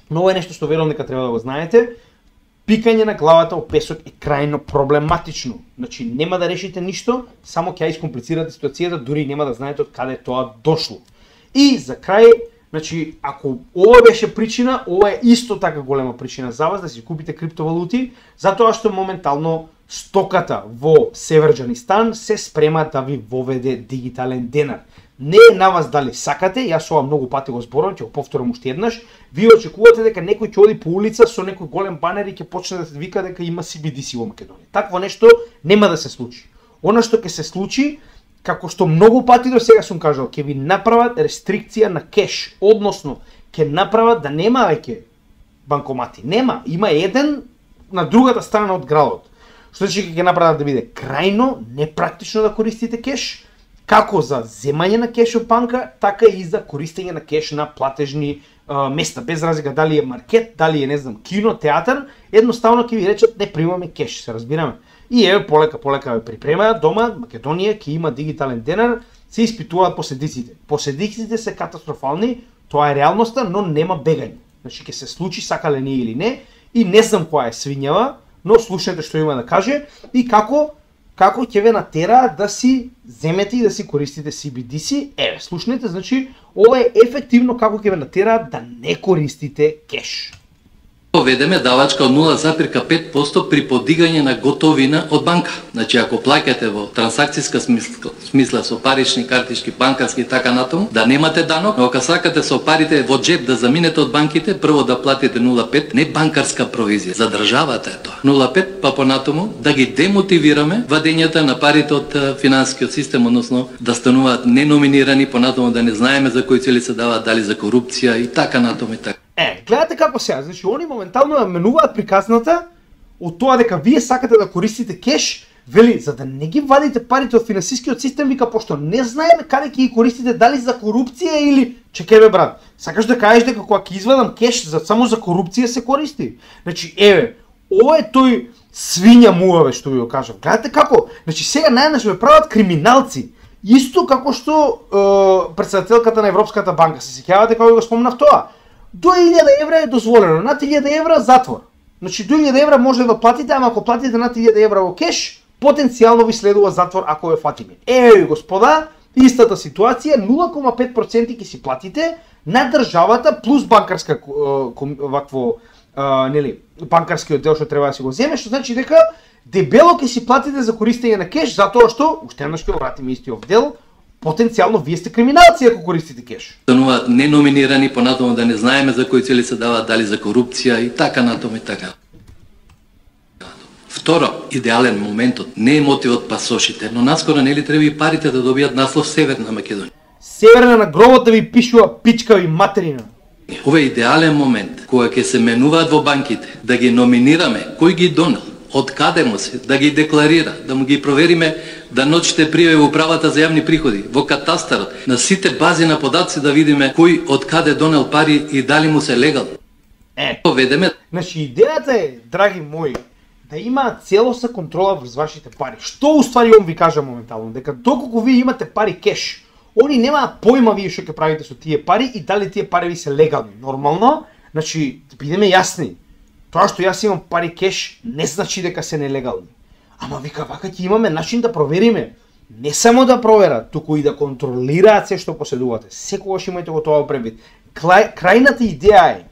Но ова е нешто што верувам дека треба да го знаете. Пикање на главата во песок е крајно проблематично. Значи нема да решите ништо, само ќе ја искомплицирате ситуацијата, дури нема да знаете од каде тоа дошло. И за крај, значи ако ова беше причина, ова е исто така голема причина за вас да си купите криптовалути, затоа што моментално стоката во Северџанистан се спрема да ви воведе дигитален денар. Не е на вас дали сакате, јас ова многу пати го зборувам, ќе го повторам уште еднаш. Вие очекувате дека некој ќе оди по улица со некој голем банер и ќе почне да се вика дека има си би ди си во Македонија. Такво нешто нема да се случи. Она што ќе се случи, како што многу пати до сега сум кажал, ќе ви направат рестрикција на кеш, односно ќе направат да нема веќе банкомати. Нема, има еден на другата страна од градот. Што значи ќе направат да биде крајно непрактично да користите кеш, како за земање на кеш од банка, така и за користење на кеш на платежни а, места, без разлика дали е маркет, дали е, не знам, кино, театар, едноставно ќе ви речат не примаме кеш, се разбираме. И еве полека полека ве припремаат дома, Македонија ќе има дигитален денар се испитуваат последиците. Последиците се катастрофални, тоа е реалноста, но нема бегање. Значи ќе се случи сакале ние или не, и не знам која е свињава, но слушнете што има да каже и како како ќе ве натера да си земете и да си користите Си Би Ди Си. Еве, слушнете, значи ова е ефективно како ќе ве натера да не користите кеш. Поведеме давачка од нула запирка пет проценти при подигање на готовина од банка. Значи, ако плаќате во трансакцијска смисла, смисла со парични, картички, банкарски и така натаму, да немате данок, но ако сакате со парите во джеб да заминете од банките, прво да платите нула цела пет, не банкарска провизија, за државата е тоа. нула цела пет, па понатаму да ги демотивираме вадењата на парите од финансискиот систем, односно да стануваат неноминирани, понатаму да не знаеме за кои цели се даваат, дали за корупција и така натаму и така. Е, гледате како сега, значи они моментално ја менуваат приказната од тоа дека вие сакате да користите кеш, вели, за да не ги вадите парите од финансискиот систем, вика, пошто не знаеме каде ќе ги користите, дали за корупција или... Чекај бе, брат, сакаш да кажеш дека кога ќе извадам кеш, за, само за корупција се користи? Значи, еве, ова е тој свиња муаве, што ви го кажам. Гледате како, значи сега најнаш ме прават криминалци. Исто како што е, председателката на Европската банка, се сеќавате кога го спомнав тоа. До илјада евра е дозволено, над илјада евра затвор. Значи до илјада евра може да платите, ама ако платите над илјада евра во кеш, потенцијално ви следува затвор ако ве фатиме. Еј, господа, истата ситуација, нула цела пет проценти ќе си платите на државата плюс банкарска вакво нели, банкарскиот дел што треба да си го земе, што значи дека дебело ќе си платите за користење на кеш, затоа што уште еднаш ќе вратиме истиот дел. Потенцијално вие сте криминалци ако користите кеш. Стануваат неноминирани, понатаму да не знаеме за кои цели се даваат, дали за корупција и така натаму и така. Второ, идеален моментот не е мотивот пасошите, но наскоро нели треба и парите да добијат наслов Северна Македонија. Северна на гробот да ви пишува пичка ви материна. Ова е идеален момент кога ќе се менуваат во банките, да ги номинираме кој ги донел, од каде му се, да ги декларира, да му ги провериме да ночите пријави во управата за јавни приходи, во катастарот, на сите бази на податци да видиме кој од каде донел пари и дали му се легал. Е, поведеме. Значи идејата е, драги мои, да има целосна контрола врз вашите пари. Што уствари он ви кажа моментално, дека доколку вие имате пари кеш, они немаат појма вие што ќе правите со тие пари и дали тие пари ви се легални. Нормално, значи бидеме јасни. Тоа што јас имам пари кеш не значи дека се нелегални. Ама вика, вака ќе имаме начин да провериме. Не само да проверат, туку и да контролираат се што поседувате. Секогаш имајте го тоа превид. Крајната идеја е,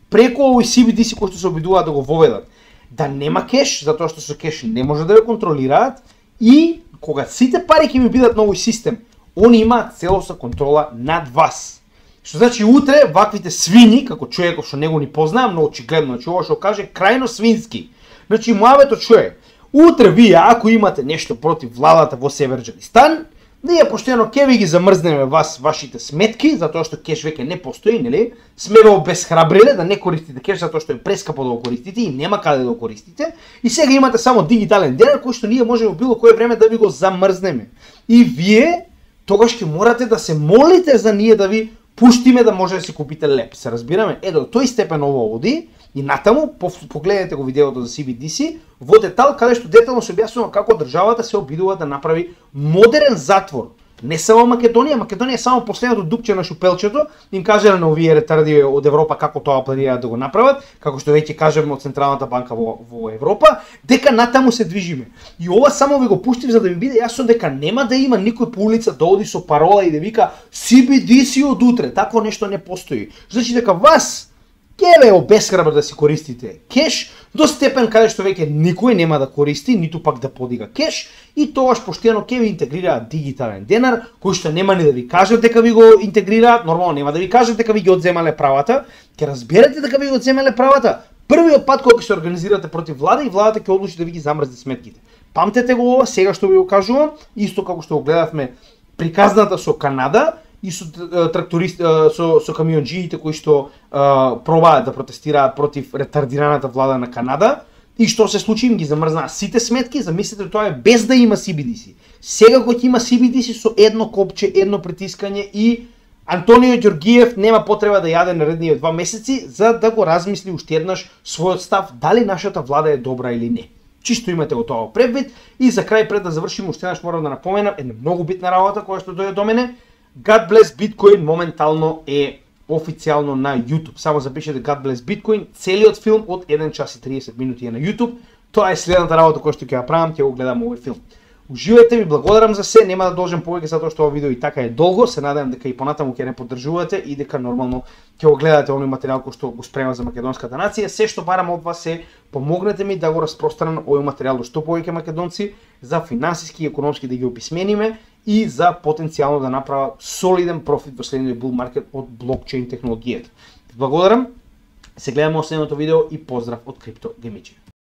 преку овој Си Би Ди Си кој што се обидуваат да го воведат, да нема кеш, затоа што со кеш не може да ве контролираат и кога сите пари ќе ми бидат на овој систем, они имаат целосна контрола над вас. Што значи утре ваквите свини, како човеков што него ни познавам, но очигледно, значи ова што каже крајно свински. Значи муавето чуе, утре вие ако имате нешто против владата во Северџанистан, ние поштено ќе ви ги замрзнеме вас вашите сметки, затоа што кеш веќе не постои, нели? Сме ве обесхрабриле да не користите кеш затоа што е прескапо да го користите и нема каде да го користите. И сега имате само дигитален денар кој што ние можеме било кое време да ви го замрзнеме. И вие тогаш ќе морате да се молите за ние да ви пуштиме да може да си купите леп. Се разбираме? Е, до тој степен ово оди и натаму погледнете го видеото за Си Би Ди Си во детал, каде што детално се објаснува како државата се обидува да направи модерен затвор. Не само Македонија, Македонија е само последното дупче на шупелчето, им кажале на овие ретарди од Европа како тоа планираат да го направат, како што веќе кажеме од Централната банка во, во Европа, дека натаму се движиме. И ова само ви го пуштив за да ми биде јасно дека нема да има никој по улица да оди со парола и да вика Си Би Ди Си од утре, такво нешто не постои. Значи дека вас ќе ве обесхрабр да си користите кеш до степен каде што веќе никој нема да користи, ниту пак да подига кеш и тогаш поштено ќе ви интегрираат дигитален денар, кој што нема ни да ви кажат дека ви го интегрираат, нормално нема да ви кажат дека ви ги одземале правата, ќе разберете дека ви го одземале правата првиот пат кога ќе се организирате против влада и владата ќе одлучи да ви ги замрзне сметките. Памтете го ова, сега што ви го кажувам, исто како што го гледавме приказната со Канада, и со трактористи, со, со камионџиите кои што а, пробаат да протестираат против ретардираната влада на Канада. И што се случи, им ги замрзнаа сите сметки, замислете тоа е без да има Си Би Ди Си. Сега кога ќе има Си Би Ди Си со едно копче, едно притискање и Антонио Ѓоргиев нема потреба да јаде наредниот два месеци за да го размисли уште еднаш својот став дали нашата влада е добра или не. чисто имате го тоа превид. И за крај, пред да завршиме, уште еднаш морам да напоменам една многу битна работа која што дојде до мене. God Bless Bitcoin моментално е официјално на YouTube. Само запишете God Bless Bitcoin, целиот филм од еден час и триесет минути е на YouTube. Тоа е следната работа која што ќе ја правам, ќе го гледам овој филм. Уживајте, ви благодарам за се, нема да должам повеќе затоа што ова видео и така е долго, се надевам дека и понатаму ќе не поддржувате и дека нормално ќе го гледате оној материјал кој што го спрема за македонската нација. Се што барам од вас е помогнете ми да го распространам овој материјал до што повеќе македонци, за финансиски и економски да ги описмениме и за потенцијално да направа солиден профит во следниот бул маркет од блокчейн технологијата. Благодарам, се гледаме во следното видео и поздрав од Крипто Гемичи.